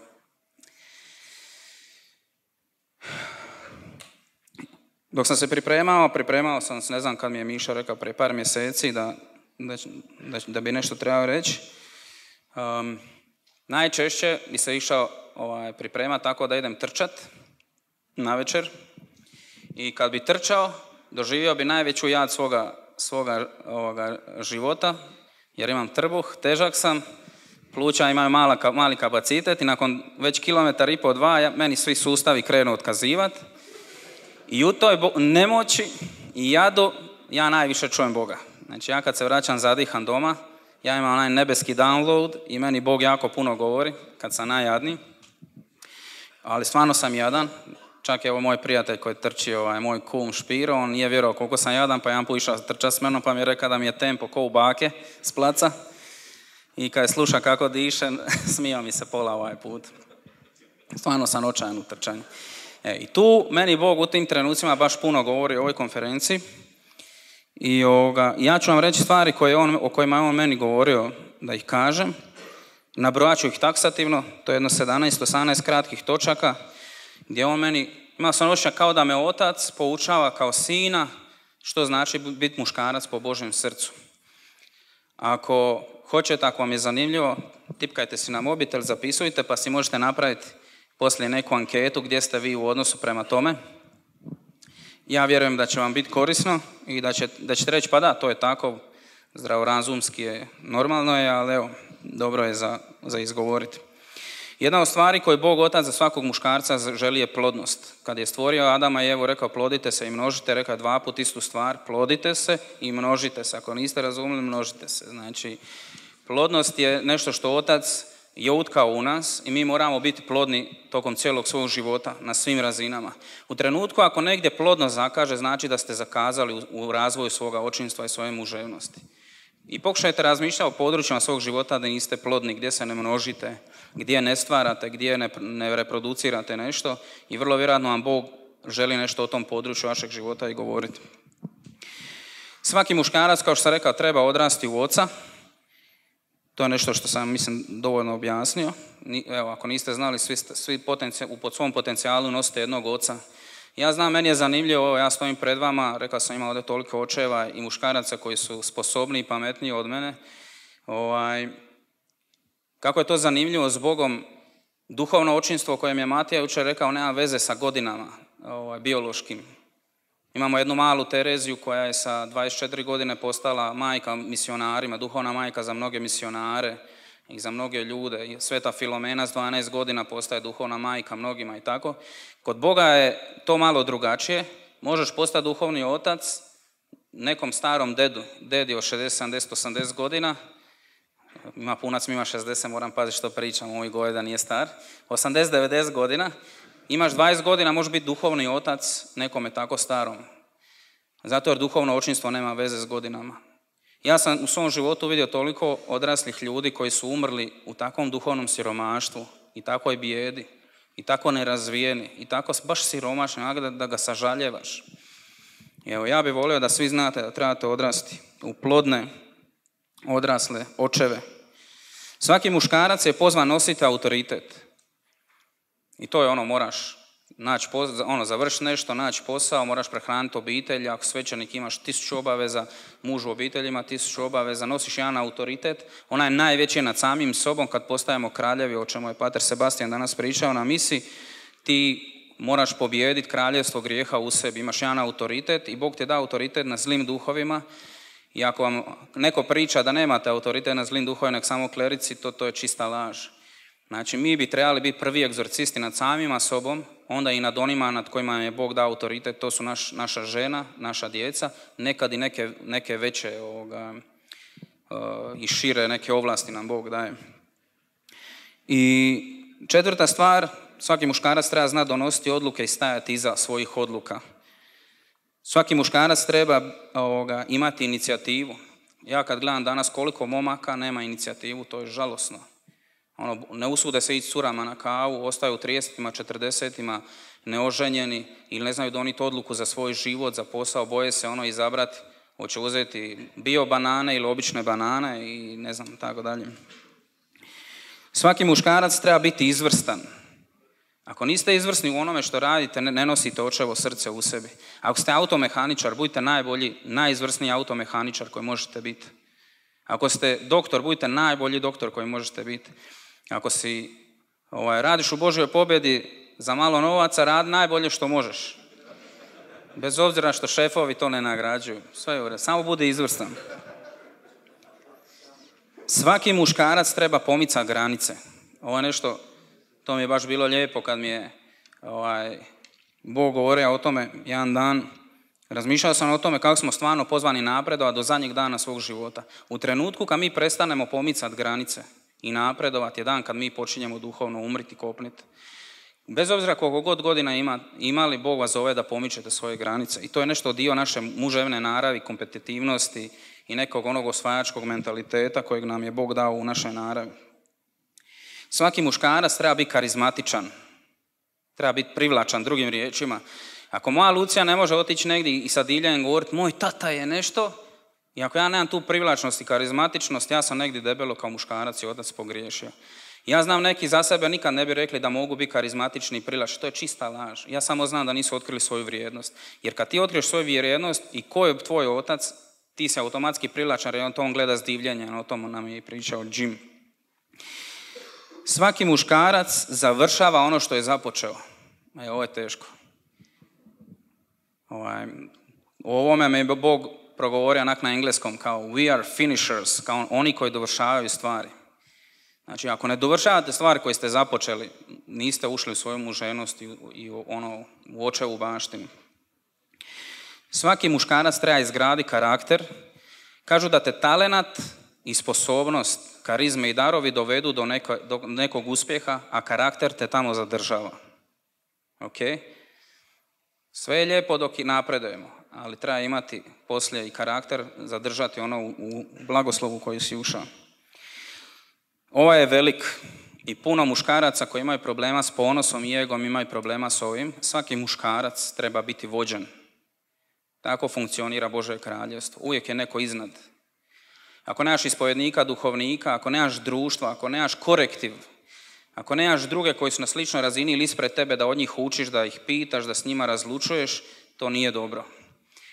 Dok sam se pripremao sam, ne znam kad mi je Miša rekao prije par mjeseci da bi nešto trebao reći. Najčešće bi se išao pripremati tako da idem trčat navečer i kad bi trčao, doživio bi najveću jad svoga života, jer imam trbuh, težak sam, pluća imaju mali kapacitet i nakon već 1,5 km, meni svi sustavi krenu otkazivati i u toj nemoći i jadu ja najviše čujem Boga. Znači ja kad se vraćam zadihan doma, ja imam onaj nebeski download i meni Bog jako puno govori kad sam najjadniji, ali stvarno sam jadan. Čak je ovo moj prijatelj koji trči, moj kum Špiro, on nije vjerovao koliko sam jadan, pa jedan put išao trča s menom, pa mi je rekao da mi je tempo ko u bake s placa. I kad je sluša kako dišem, smijao mi se pola ovaj put. Stvarno sam očajan u trčanju. I tu meni Bog u tim trenucima baš puno govori o ovoj konferenciji. I ja ću vam reći stvari o kojima je on meni govorio da ih kažem. Nabrojat ću ih taksativno, to je jedno 17-18 kratkih točaka, gdje on meni, imao sam osjećaj kao da me otac poučava kao sina, što znači biti muškarac po Božjem srcu. Ako hoćete, ako vam je zanimljivo, tipkajte si na mobitel, zapisujte, pa si možete napraviti poslije neku anketu gdje ste vi u odnosu prema tome. Ja vjerujem da će vam biti korisno i da ćete reći, pa da, to je tako, zdravorazumski je, normalno je, ali evo, dobro je za izgovoriti. Jedna od stvari koju Bog Otac za svakog muškarca želi je plodnost. Kad je stvorio Adama i Evu, rekao plodite se i množite, rekao 2 puta istu stvar, plodite se i množite se. Ako niste razumjeli, množite se. Znači, plodnost je nešto što Otac je utkao u nas i mi moramo biti plodni tokom cijelog svog života na svim razinama. U trenutku ako negdje plodnost zakaže, znači da ste zakazali u razvoju svoga očinstva i svoje muževnosti. I pokušajte razmišljati o područjima svog života da niste plodni, gdje se ne množite, gdje ne stvarate, gdje ne reproducirate nešto i vrlo vjerojatno vam Bog želi nešto o tom području vašeg života i govoriti. Svaki muškarac, kao što sam rekao, treba odrasti u oca. To je nešto što sam, mislim, dovoljno objasnio. Evo, ako niste znali, svi pod svom potencijalu nosite jednog oca. Ja znam, meni je zanimljivo, ja stojim pred vama, rekao sam imao ovdje toliko očeva i muškaraca koji su sposobniji i pametniji od mene. Kako je to zanimljivo s Bogom, duhovno očinstvo o kojem je Matija jučer rekao nema veze sa godinama biološkim. Imamo jednu malu Tereziju koja je sa 24 godine postala majka misionarima, duhovna majka za mnoge misionare i za mnoge ljude. Sveta Filomena s 12 godina postaje duhovna majka mnogima i tako. Kod Boga je to malo drugačije. Možeš postati duhovni otac nekom starom dedi od 60, 70, 80 godina. Ima punac, ima 60, moram paziti što pričam, ovih godina nije star. 80, 90 godina. Imaš 20 godina, možeš biti duhovni otac nekome tako starom. Zato jer duhovno očinstvo nema veze s godinama. Ja sam u svom životu vidio toliko odraslih ljudi koji su umrli u takvom duhovnom siromaštvu i takvoj bijedi i tako nerazvijeni i tako baš siromašni da ga sažaljevaš. Evo, ja bih volio da svi znate da trebate odrasti u plodne, odrasle očeve. Svaki muškarac je pozvan nositi autoritet. I to je moraš naći završiti nešto, naći posao, moraš prehraniti obitelj, ako svećenik imaš 1000 obaveza, muž u obitelji ima 1000 obaveza, nosiš jedan autoritet, ona je najveći nad samim sobom kad postajemo kraljevi, o čemu je pater Sebastian danas pričao na misi, ti moraš pobijediti kraljevstvo grijeha u sebi, imaš jedan autoritet i Bog ti da autoritet na zlim duhovima i ako vam neko priča da nemate autoritet na zlim duhovima, nek samo klerici, to je čista laž. Znači, mi bi trebali biti prvi egzorcisti nad samima sobom, onda i nad onima nad kojima je Bog dao autoritet, to su naša žena, naša djeca, nekad i neke veće i šire neke ovlasti nam Bog daje. I 4. stvar, svaki muškarac treba znati donositi odluke i stajati iza svojih odluka. Svaki muškarac treba imati inicijativu. Ja kad gledam danas koliko momaka nema inicijativu, to je žalosno. Ne usude se ići curama na kavu, ostaju u 30-ima, 40-ima neoženjeni ili ne znaju donijeti odluku za svoj život, za posao, boje se izabrati, hoće uzeti bio banane ili obične banane i ne znam, tako dalje. Svaki muškarac treba biti izvrstan. Ako niste izvrsni u onome što radite, ne nosite očevo srce u sebi. Ako ste automehaničar, budite najbolji, najizvrsniji automehaničar koji možete biti. Ako ste doktor, budite najbolji doktor koji možete biti. Ako radiš u Božjoj pobjedi za malo novaca, radi najbolje što možeš. Bez obzira što šefovi to ne nagrađuju. Sve je u redu, samo budi izvrstan. Svaki muškarac treba pomicati granice. Ovo je nešto, to mi je baš bilo lijepo kad mi je Bog govorio o tome jedan dan. Razmišljao sam o tome kako smo stvarno pozvani napredovati do zadnjeg dana svog života. U trenutku kad mi prestanemo pomicati granice i napredovati je dan kad mi počinjemo duhovno umriti, kopniti. Bez obzira koliko god godina imali, Bog vas zove da pomičete svoje granice. I to je nešto dio naše muževne naravi, kompetitivnosti i nekog onog osvajačkog mentaliteta kojeg nam je Bog dao u našoj naravi. Svaki muškarac treba biti karizmatičan. Treba biti privlačan, drugim riječima. Ako moja Lucija ne može otići negdje i sa diljanjem govoriti moj tata je nešto, i ako ja nemam tu privlačnost i karizmatičnost, ja sam negdje debelo kao muškarac i otac pogriješio. Ja znam neki za sebe nikad ne bi rekli da mogu biti karizmatični i privlačni. To je čista laž. Ja samo znam da nisu otkrili svoju vrijednost. Jer kad ti otkriješ svoju vrijednost i ko je tvoj otac, ti se automatski privlačan jer on gleda s divljenjem. O tom nam je pričao Jim. Svaki muškarac završava ono što je započeo. Ovo je teško. O ovome me je Bog progovorio onak na engleskom kao we are finishers, kao oni koji dovršavaju stvari. Znači, ako ne dovršavate stvari koje ste započeli, niste ušli u svoju muženost i u očevu baštinu. Svaki muškarac treba izgraditi karakter. Kažu da te talenat i sposobnost, karizme i darovi dovedu do nekog uspjeha, a karakter te tamo zadržava. Ok? Sve je lijepo dok i napredujemo, ali treba imati poslije i karakter, zadržati ono u blagoslovu koji si ušao. Ovo je velik i puno muškaraca koji imaju problema s ponosom i egom, imaju problema s ovim. Svaki muškarac treba biti vođen. Tako funkcionira Božje kraljevstvo. Uvijek je neko iznad. Ako nemaš ispovjednika, duhovnika, ako nemaš društva, ako nemaš korektiv, ako nemaš druge koji su na sličnoj razini ili ispred tebe da od njih učiš, da ih pitaš, da s njima razlučuješ, to nije dobro.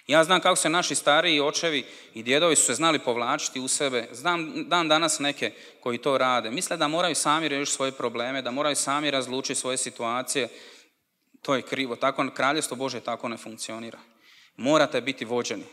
Ja znam kako se naši stariji očevi i djedovi su se znali povlačiti u sebe. Znam danas neke koji to rade. Misle da moraju sami riješiti svoje probleme, da moraju sami razlučiti svoje situacije. To je krivo. Tako kraljevstvo Božje tako ne funkcionira. Morate biti vođeni.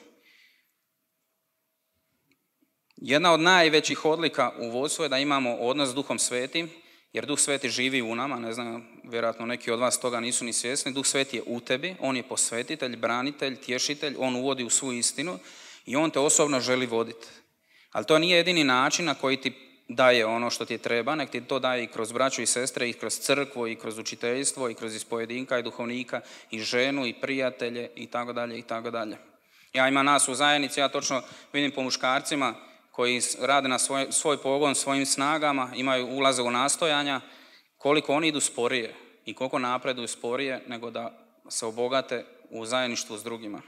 Jedna od najvećih odlika u vodstvu je da imamo odnos s Duhom Svetim, jer Duh Sveti živi u nama, ne znam, vjerojatno neki od vas toga nisu ni svjesni. Duh Sveti je u tebi, on je posvetitelj, branitelj, tješitelj, on uvodi u svu istinu i on te osobno želi voditi. Ali to nije jedini način na koji ti daje ono što ti treba, nek ti to daje i kroz braću i sestre, i kroz crkvu, i kroz učiteljstvo, i kroz ispojedinka i duhovnika, i ženu, i prijatelje, i tako dalje, i tako dalje. Ja imam nas u zajednici, ja točno vidim po muškarcima koji rade na svoj pogon svojim snagama, ulaze u nastojanja, koliko oni idu sporije i koliko napreduju sporije nego da se obogate u zajedništvu s drugima.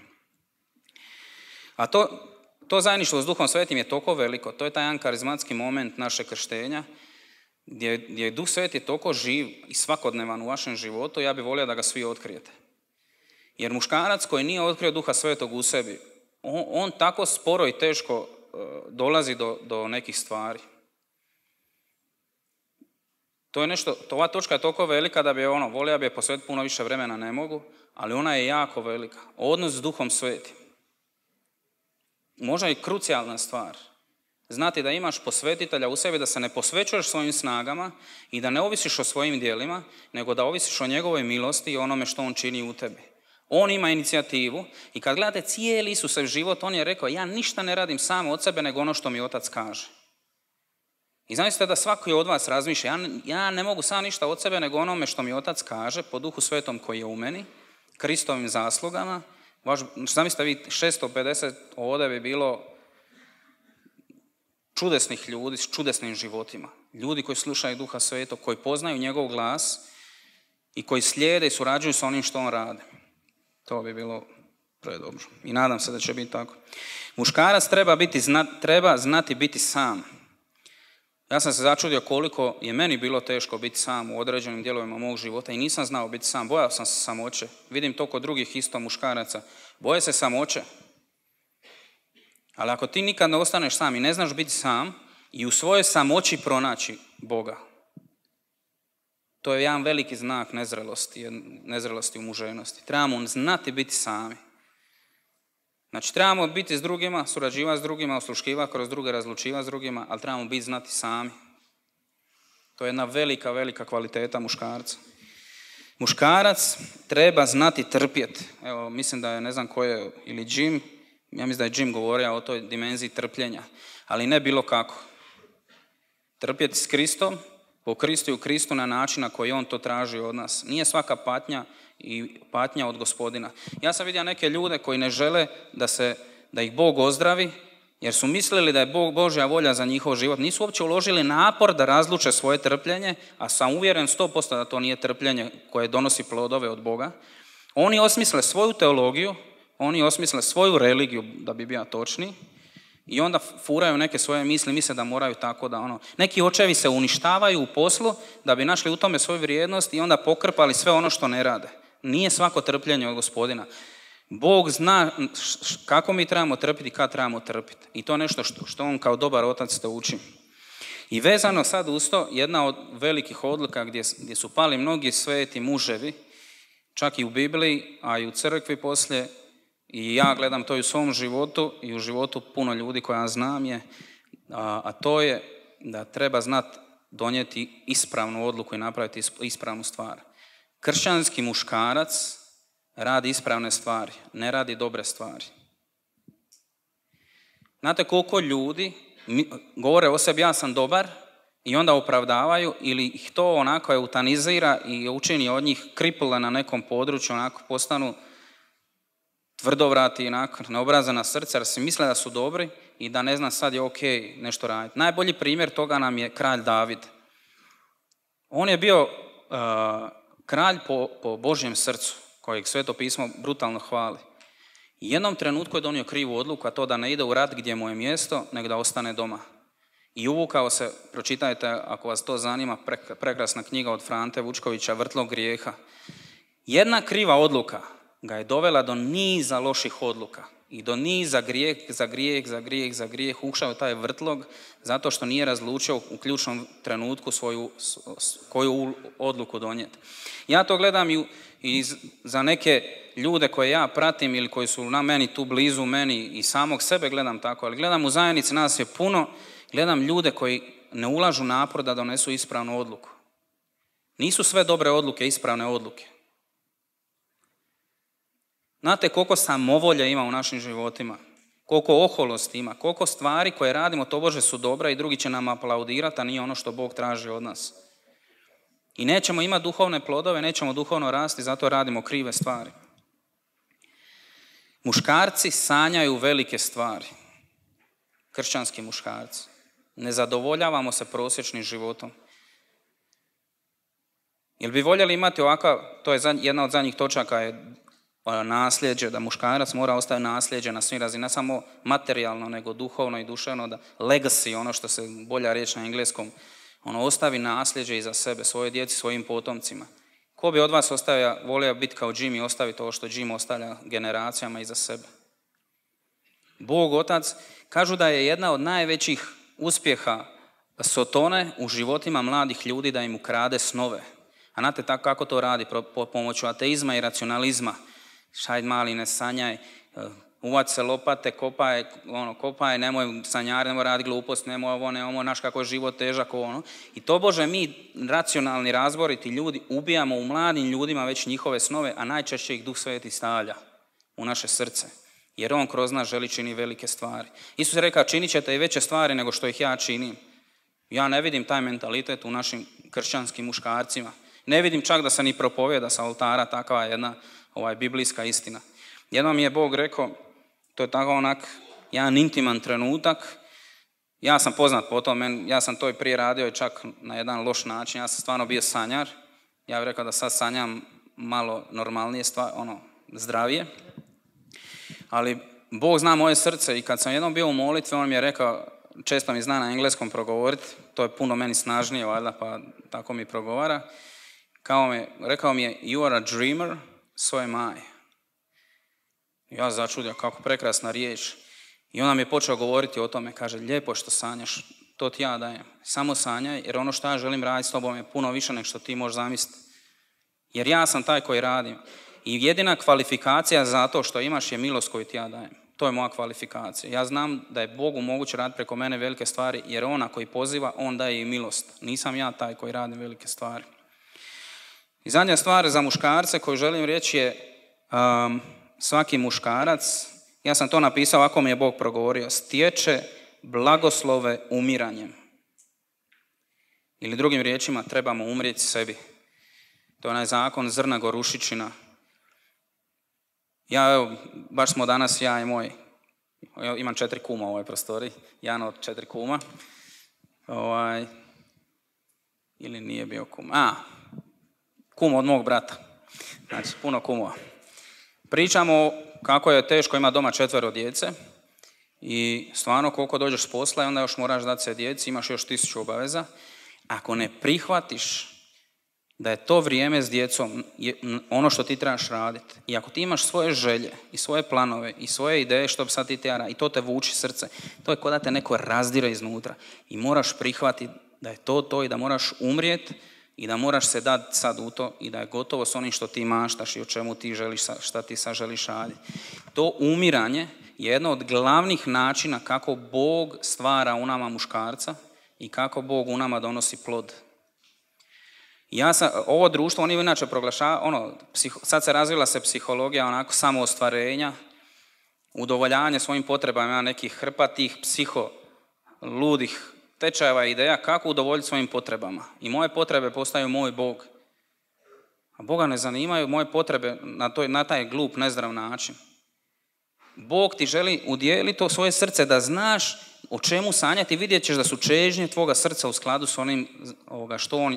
A to zajedništvo s Duhom Svetim je toliko veliko, to je taj jedan karizmatski moment našeg krštenja, gdje je Duh Sveti toliko živ i svakodnevan u vašem životu, ja bih volio da ga svi otkrijete. Jer muškarac koji nije otkrio Duha Svetog u sebi, on tako sporo i teško dolazi do nekih stvari. To je nešto, ova točka je toliko velika da bi volio bi je posvetiti puno više vremena, ne mogu, ali ona je jako velika. Odnos s Duhom Svetim. Možda i krucijalna stvar. Znati da imaš posvetitelja u sebi, da se ne posvećuješ svojim snagama i da ne ovisiš o svojim djelima, nego da ovisiš o njegovoj milosti i onome što on čini u tebi. On ima inicijativu i kad gledate cijeli Isusov život, on je rekao, ja ništa ne radim sam od sebe nego ono što mi Otac kaže. I zamislite da svaki od vas razmišlja, ja ne mogu sam ništa od sebe nego onome što mi Otac kaže, po Duhu Svetom koji je u meni, Kristovim zaslugama. Zamislite vi 650 ovdje bi bilo čudesnih ljudi s čudesnim životima. Ljudi koji slušaju Duha Svetog, koji poznaju njegov glas i koji slijede i surađuju s onim što on radi. To bi bilo predobro. I nadam se da će biti tako. Muškarac treba znati biti sam. Ja sam se začudio koliko je meni bilo teško biti sam u određenim dijelovima mog života i nisam znao biti sam. Bojao sam se samoće. Vidim to kod drugih isto muškaraca. Boje se samoće. Ali ako ti nikad ne ostaneš sam i ne znaš biti sam i u svojoj samoći pronaći Boga, To je jedan veliki znak nezrelosti u muževnosti. Trebamo znati biti sami. Znači, trebamo biti s drugima, surađivati s drugima, osluškivati kroz druge, razlučivati s drugima, ali trebamo biti znati sami. To je jedna velika, velika kvaliteta muškarca. Muškarac treba znati trpjeti. Evo, mislim da je, ne znam ko je, ili Jim, ja mislim da je Jim govorio o toj dimenziji trpljenja, ali ne bilo kako. Trpjeti s Kristom, po Kristu i u Kristu na način na koji on to traži od nas. Nije svaka patnja i patnja od Gospodina. Ja sam vidio neke ljude koji ne žele da ih Bog ozdravi, jer su mislili da je Božja volja za njihov život. Nisu uopće uložili napor da razluče svoje trpljenje, a sam uvjeren 100% da to nije trpljenje koje donosi plodove od Boga. Oni osmisle svoju teologiju, oni osmisle svoju religiju, da bi bio točniji, i onda furaju neke svoje misle da moraju tako da Neki očevi se uništavaju u poslu da bi našli u tome svoju vrijednost i onda pokrpali sve ono što ne rade. Nije svako trpljenje od Gospodina. Bog zna kako mi trebamo trpiti i kad trebamo trpiti. I to je nešto što on kao dobar otac te uči. I vezano sad uz to, jedna od velikih odluka gdje su pali mnogi sveti muževi, čak i u Bibliji, a i u crkvi poslije, i ja gledam to i u svom životu i u životu puno ljudi koja znam a to je da treba znati donijeti ispravnu odluku i napraviti ispravnu stvar. Kršćanski muškarac radi ispravne stvari, ne radi dobre stvari. Znate koliko ljudi govore o sebi ja sam dobar i onda opravdavaju ili ih to onako eutanizira i učini od njih kripule na nekom području, onako postanu tvrdovrati, neobrazana srca, jer si misle da su dobri i da ne zna sad je ok nešto raditi. Najbolji primjer toga nam je kralj David. On je bio kralj po Božjem srcu, kojeg Sveto pismo brutalno hvali. I jednom trenutku je donio krivu odluku, a to da ne ide u rat gdje mu je mjesto, nego da ostane doma. I uvukao se, pročitajte ako vas to zanima, prekrasna knjiga od Frante Vučkovića, Vrtlog grijeha. Jedna kriva odluka ga je dovela do niza loših odluka i do niza grijeh, ušao taj vrtlog zato što nije razlučio u ključnom trenutku koju odluku donijeti. Ja to gledam i za neke ljude koje ja pratim ili koji su na meni tu blizu meni i samog sebe gledam tako, ali gledam u zajednici, nas je puno, gledam ljude koji ne ulažu napor da donesu ispravnu odluku. Nisu sve dobre odluke ispravne odluke. Znate koliko samovolje ima u našim životima, koliko oholosti ima, koliko stvari koje radimo tobože su dobre i drugi će nam aplaudirati, a nije ono što Bog traži od nas. I nećemo imati duhovne plodove, nećemo duhovno rasti, zato radimo krive stvari. Muškarci sanjaju velike stvari. Kršćanski muškarci. Ne zadovoljavamo se prosječnim životom. Jel bi voljeli imati ovakav, to je jedna od zadnjih točaka, je nasljeđe, da muškarac mora ostaviti nasljeđe na svim razinama, ne samo materijalno, nego duhovno i duševno, da legacy, ono što se bolja riječ na engleskom, ostavi nasljeđe iza sebe, svoje djeci, svojim potomcima. Ko bi od vas volio biti kao Jim i ostaviti ovo što Jim ostavlja generacijama iza sebe? Bog Otac, kažu da je jedna od najvećih uspjeha Sotone u životima mladih ljudi da im ukrade snove. A znate tako kako to radi? Pomoću ateizma i racionalizma. Šajd mali, ne sanjaj, uvac se lopate, kopaj, nemoj sanjari, nemoj raditi glupost, nemoj ovo, naš kako je život težak, I to Bože, mi racionalni, razboriti ljudi ubijamo u mladim ljudima već njihove snove, a najčešće ih Duh Sveti stavlja u naše srce. Jer on kroz nas želi čini velike stvari. Isus je rekao, činit ćete i veće stvari nego što ih ja činim. Ja ne vidim taj mentalitet u našim kršćanskim muškarcima. Ne vidim čak da se ni propovijeda sa oltara, takva jedna biblijska istina. Jednom mi je Bog rekao, to je tako jedan intiman trenutak, ja sam poznat po tom, ja sam to i prije radio i čak na jedan loš način, ja sam stvarno bio sanjar, ja bih rekao da sad sanjam malo normalnije stvari, zdravije, ali Bog zna moje srce i kad sam jednom bio u molitvi, on mi je rekao, često mi zna na engleskom progovoriti, to je puno meni snažnije, valjda, pa tako mi progovara, rekao mi je, you are a dreamer, so am I. Ja začudio kako prekrasna riječ. I on nam je počeo govoriti o tome, kaže, lijepo što sanjaš, to ti ja dajem. Samo sanjaj, jer ono što ja želim raditi s tobom je puno više nego što ti možeš zamisliti. Jer ja sam taj koji radim. I jedina kvalifikacija za to što imaš je milost koju ti ja dajem. To je moja kvalifikacija. Ja znam da je Bogu moguće raditi preko mene velike stvari, jer ona koji poziva, on daje i milost. Nisam ja taj koji radi velike stvari. I zadnja stvar za muškarce koju želim reći je svaki muškarac, ja sam to napisao, ako mi je Bog progovorio, stječe blagoslove umiranjem. Ili drugim riječima, trebamo umrijeti sebi. To je onaj zakon zrna gorušičina. Ja, evo, baš smo danas, ja i moj, imam 4 kuma u ovoj prostoriji, jedan od 4 kuma, ili nije bio kum, kum od mog brata, znači puno kumova. Pričamo kako je teško imati doma 4 djece i stvarno koliko dođeš s posla i onda još moraš dati se djeci, imaš još 1000 obaveza. Ako ne prihvatiš da je to vrijeme s djecom ono što ti trebaš raditi i ako ti imaš svoje želje i svoje planove i svoje ideje što bi sad ti tjera i to te vuči srce, to je kao da te neko razdire iznutra i moraš prihvatiti da je to i da moraš umrijeti i da moraš se dati sad u to i da je gotovo s onim što ti maštaš i o čemu ti želiš, šta ti sad želiš raditi. To umiranje je jedno od glavnih načina kako Bog stvara u nama muškarca i kako Bog u nama donosi plod. Ovo društvo, oni inače proglašavaju, sad se razvila se psihologija onako samoostvarenja, udovoljavanje svojim potrebama, ima nekih hrpatih, ludih tečajeva i ideja kako udovoljiti svojim potrebama. I moje potrebe postaju moj Bog. A Boga ne zanimaju moje potrebe na taj glup, nezdrav način. Bog ti želi udijeliti to svoje srce da znaš o čemu sanjati, vidjet ćeš da su čežnje tvoga srca u skladu s onim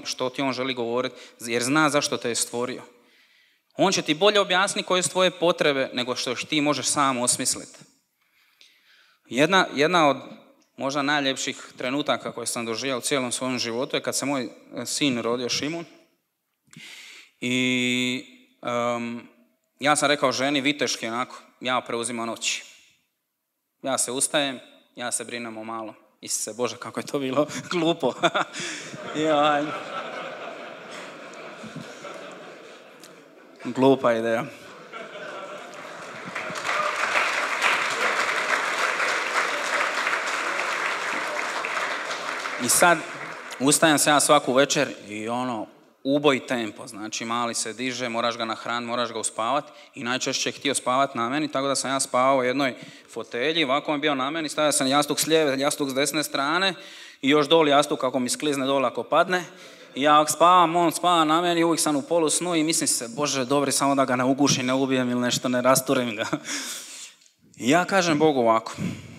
što ti on želi govoriti, jer zna zašto te je stvorio. On će ti bolje objasniti koje su tvoje potrebe nego što ti možeš sam osmisliti. Jedna od možda najljepših trenutaka koje sam doživio u cijelom svojom životu je kad se moj sin rodio, Šimun. I ja sam rekao ženi viteški onako, ja preuzimam noći. Ja se ustajem, ja se brinem o malo. Isuse Bože, kako je to bilo glupo. Glupa ideja. I sad ustajem se ja svaku večer i uboj tempo, znači mali se diže, moraš ga nahraniti, moraš ga uspavati i najčešće je htio spavati na meni, tako da sam ja spavao u jednoj fotelji, ovako je bio na meni, stavio sam jastuk s lijeve, jastuk s desne strane i još doli jastuk kako mi sklizne dole ako padne. I ja spavam, on spava na meni, uvijek sam u polusnu i mislim se, Bože, dobri, samo da ga ne ugušim, ne ubijem ili nešto, ne rasturim ga. I ja kažem Bogu ovako,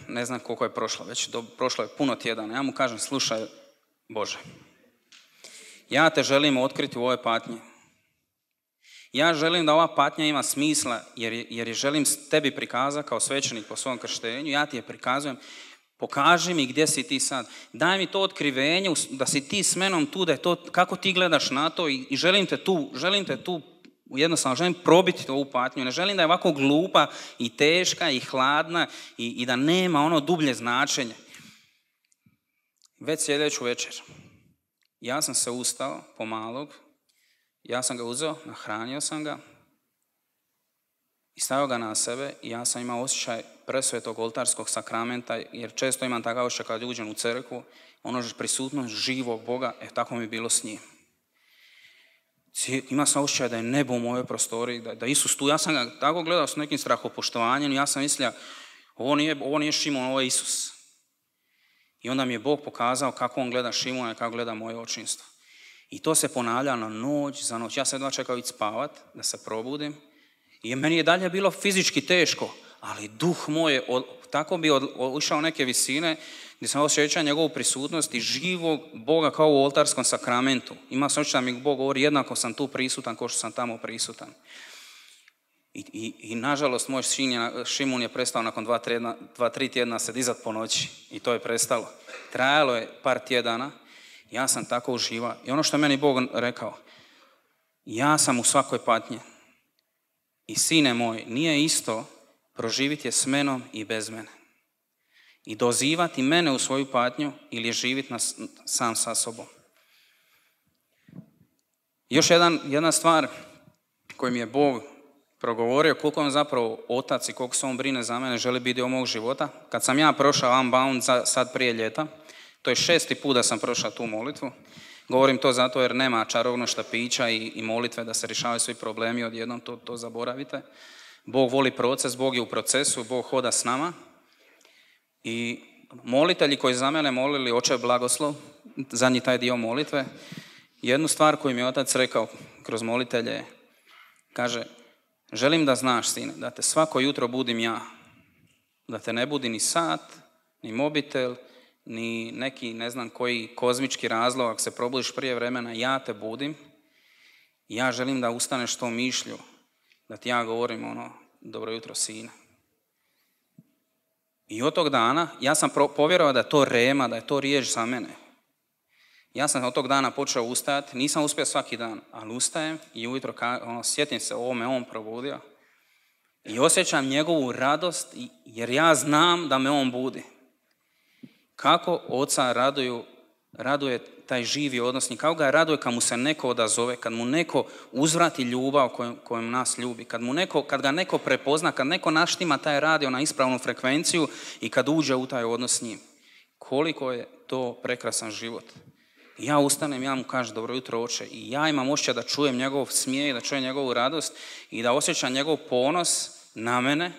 ne znam koliko je prošlo, prošlo je puno tjedana, ja mu kažem, slušaj Bože, ja te želim otkriti u ovoj patnji. Ja želim da ova patnja ima smisla jer je želim tebi prikazati kao svećenik po svom krštenju. Ja ti je prikazujem. Pokaži mi gdje si ti sad. Daj mi to otkrivenje da si ti s menom tu, da je to, kako ti gledaš na to i želim te tu jednostavno želim probiti ovu patnju. Ne želim da je ovako glupa i teška i hladna i da nema ono dublje značenje. Već sljedeću večer. Ja sam se ustao pomalog, ja sam ga uzeo, nahranio sam ga i stavio ga na sebe i ja sam imao osjećaj presvetog oltarskog sakramenta, jer često imam takav osjećaj kad uđem u crkvu, prisutnost živog Boga, tako mi je bilo s njim. Ima sam osjećaj da je nebo u mojoj prostoriji, da Isus tu, ja sam ga tako gledao s nekim strahopoštovanjem, ja sam mislio, ovo nije Šimon, ovo je Isus. I onda mi je Bog pokazao kako on gleda Šimuna i kako gleda moje očinstvo. I to se ponavlja noć za noć. Ja sam jedva čekao ići spavat, da se probudim. I meni je dalje bilo fizički teško, ali duh moj je tako bi ušao neke visine gdje sam osjećao njegovu prisutnost i živog Boga kao u oltarskom sakramentu. Ima sam osjećaj da mi Bog govori jednako sam tu prisutan kao što sam tamo prisutan. I nažalost moj Šimun je prestao nakon 2-3 tjedna se dizat po noći i to je prestalo. Trajalo je par tjedana, ja sam tako uživao. I ono što je meni Bog rekao, ja sam u svakoj patnji i sine moj, nije isto proživiti je s menom i bez mene. i dozivati mene u svoju patnju ili živjeti sam sa sobom. Još jedna stvar koju mi je Bog progovorio, koliko on zapravo otac i koliko se on brine za mene, želi biti dio mog života. Kad sam ja prošao Unbound sad prije ljeta, to je 6. put da sam prošao tu molitvu. Govorim to zato jer nema čarobnog štapića i molitve da se rješavaju svi problemi, odjednom to zaboravite. Bog voli proces, Bog je u procesu, Bog hoda s nama. I molitelji koji za mene molili Oče blagoslov, zadnji taj dio molitve, jednu stvar koju mi je otac rekao kroz molitelje, kaže, želim da znaš, sine, da te svako jutro budim ja, da te ne budi ni sat, ni mobitel, ni neki ne znam koji kozmički razlog, ako se probudiš prije vremena, ja te budim, ja želim da ustaneš tom mišlju, da ti ja govorim dobro jutro sine. I od tog dana ja sam povjerovao da je to rema, da je to riječ za mene. Ja sam od tog dana počeo ustajati, nisam uspio svaki dan, ali ustajem i ujutro sjetim se ovo me on probudio i osjećam njegovu radost jer ja znam da me on budi. Kako oca raduje taj živi odnos, kako ga raduje kad mu se neko odazove, kad mu neko uzvrati ljubav kojom nas ljubi, kad ga neko prepozna, kad neko naštima taj radio na ispravnu frekvenciju i kad uđe u taj odnos s njim. Koliko je to prekrasan život. Ja ustanem, ja mu kažem dobro jutro oče i ja imam osjećaj da čujem njegov smijeh, da čujem njegovu radost i da osjećam njegov ponos na mene.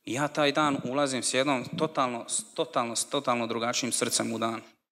I ja taj dan ulazim s jednom totalno drugačijim srcem u dan.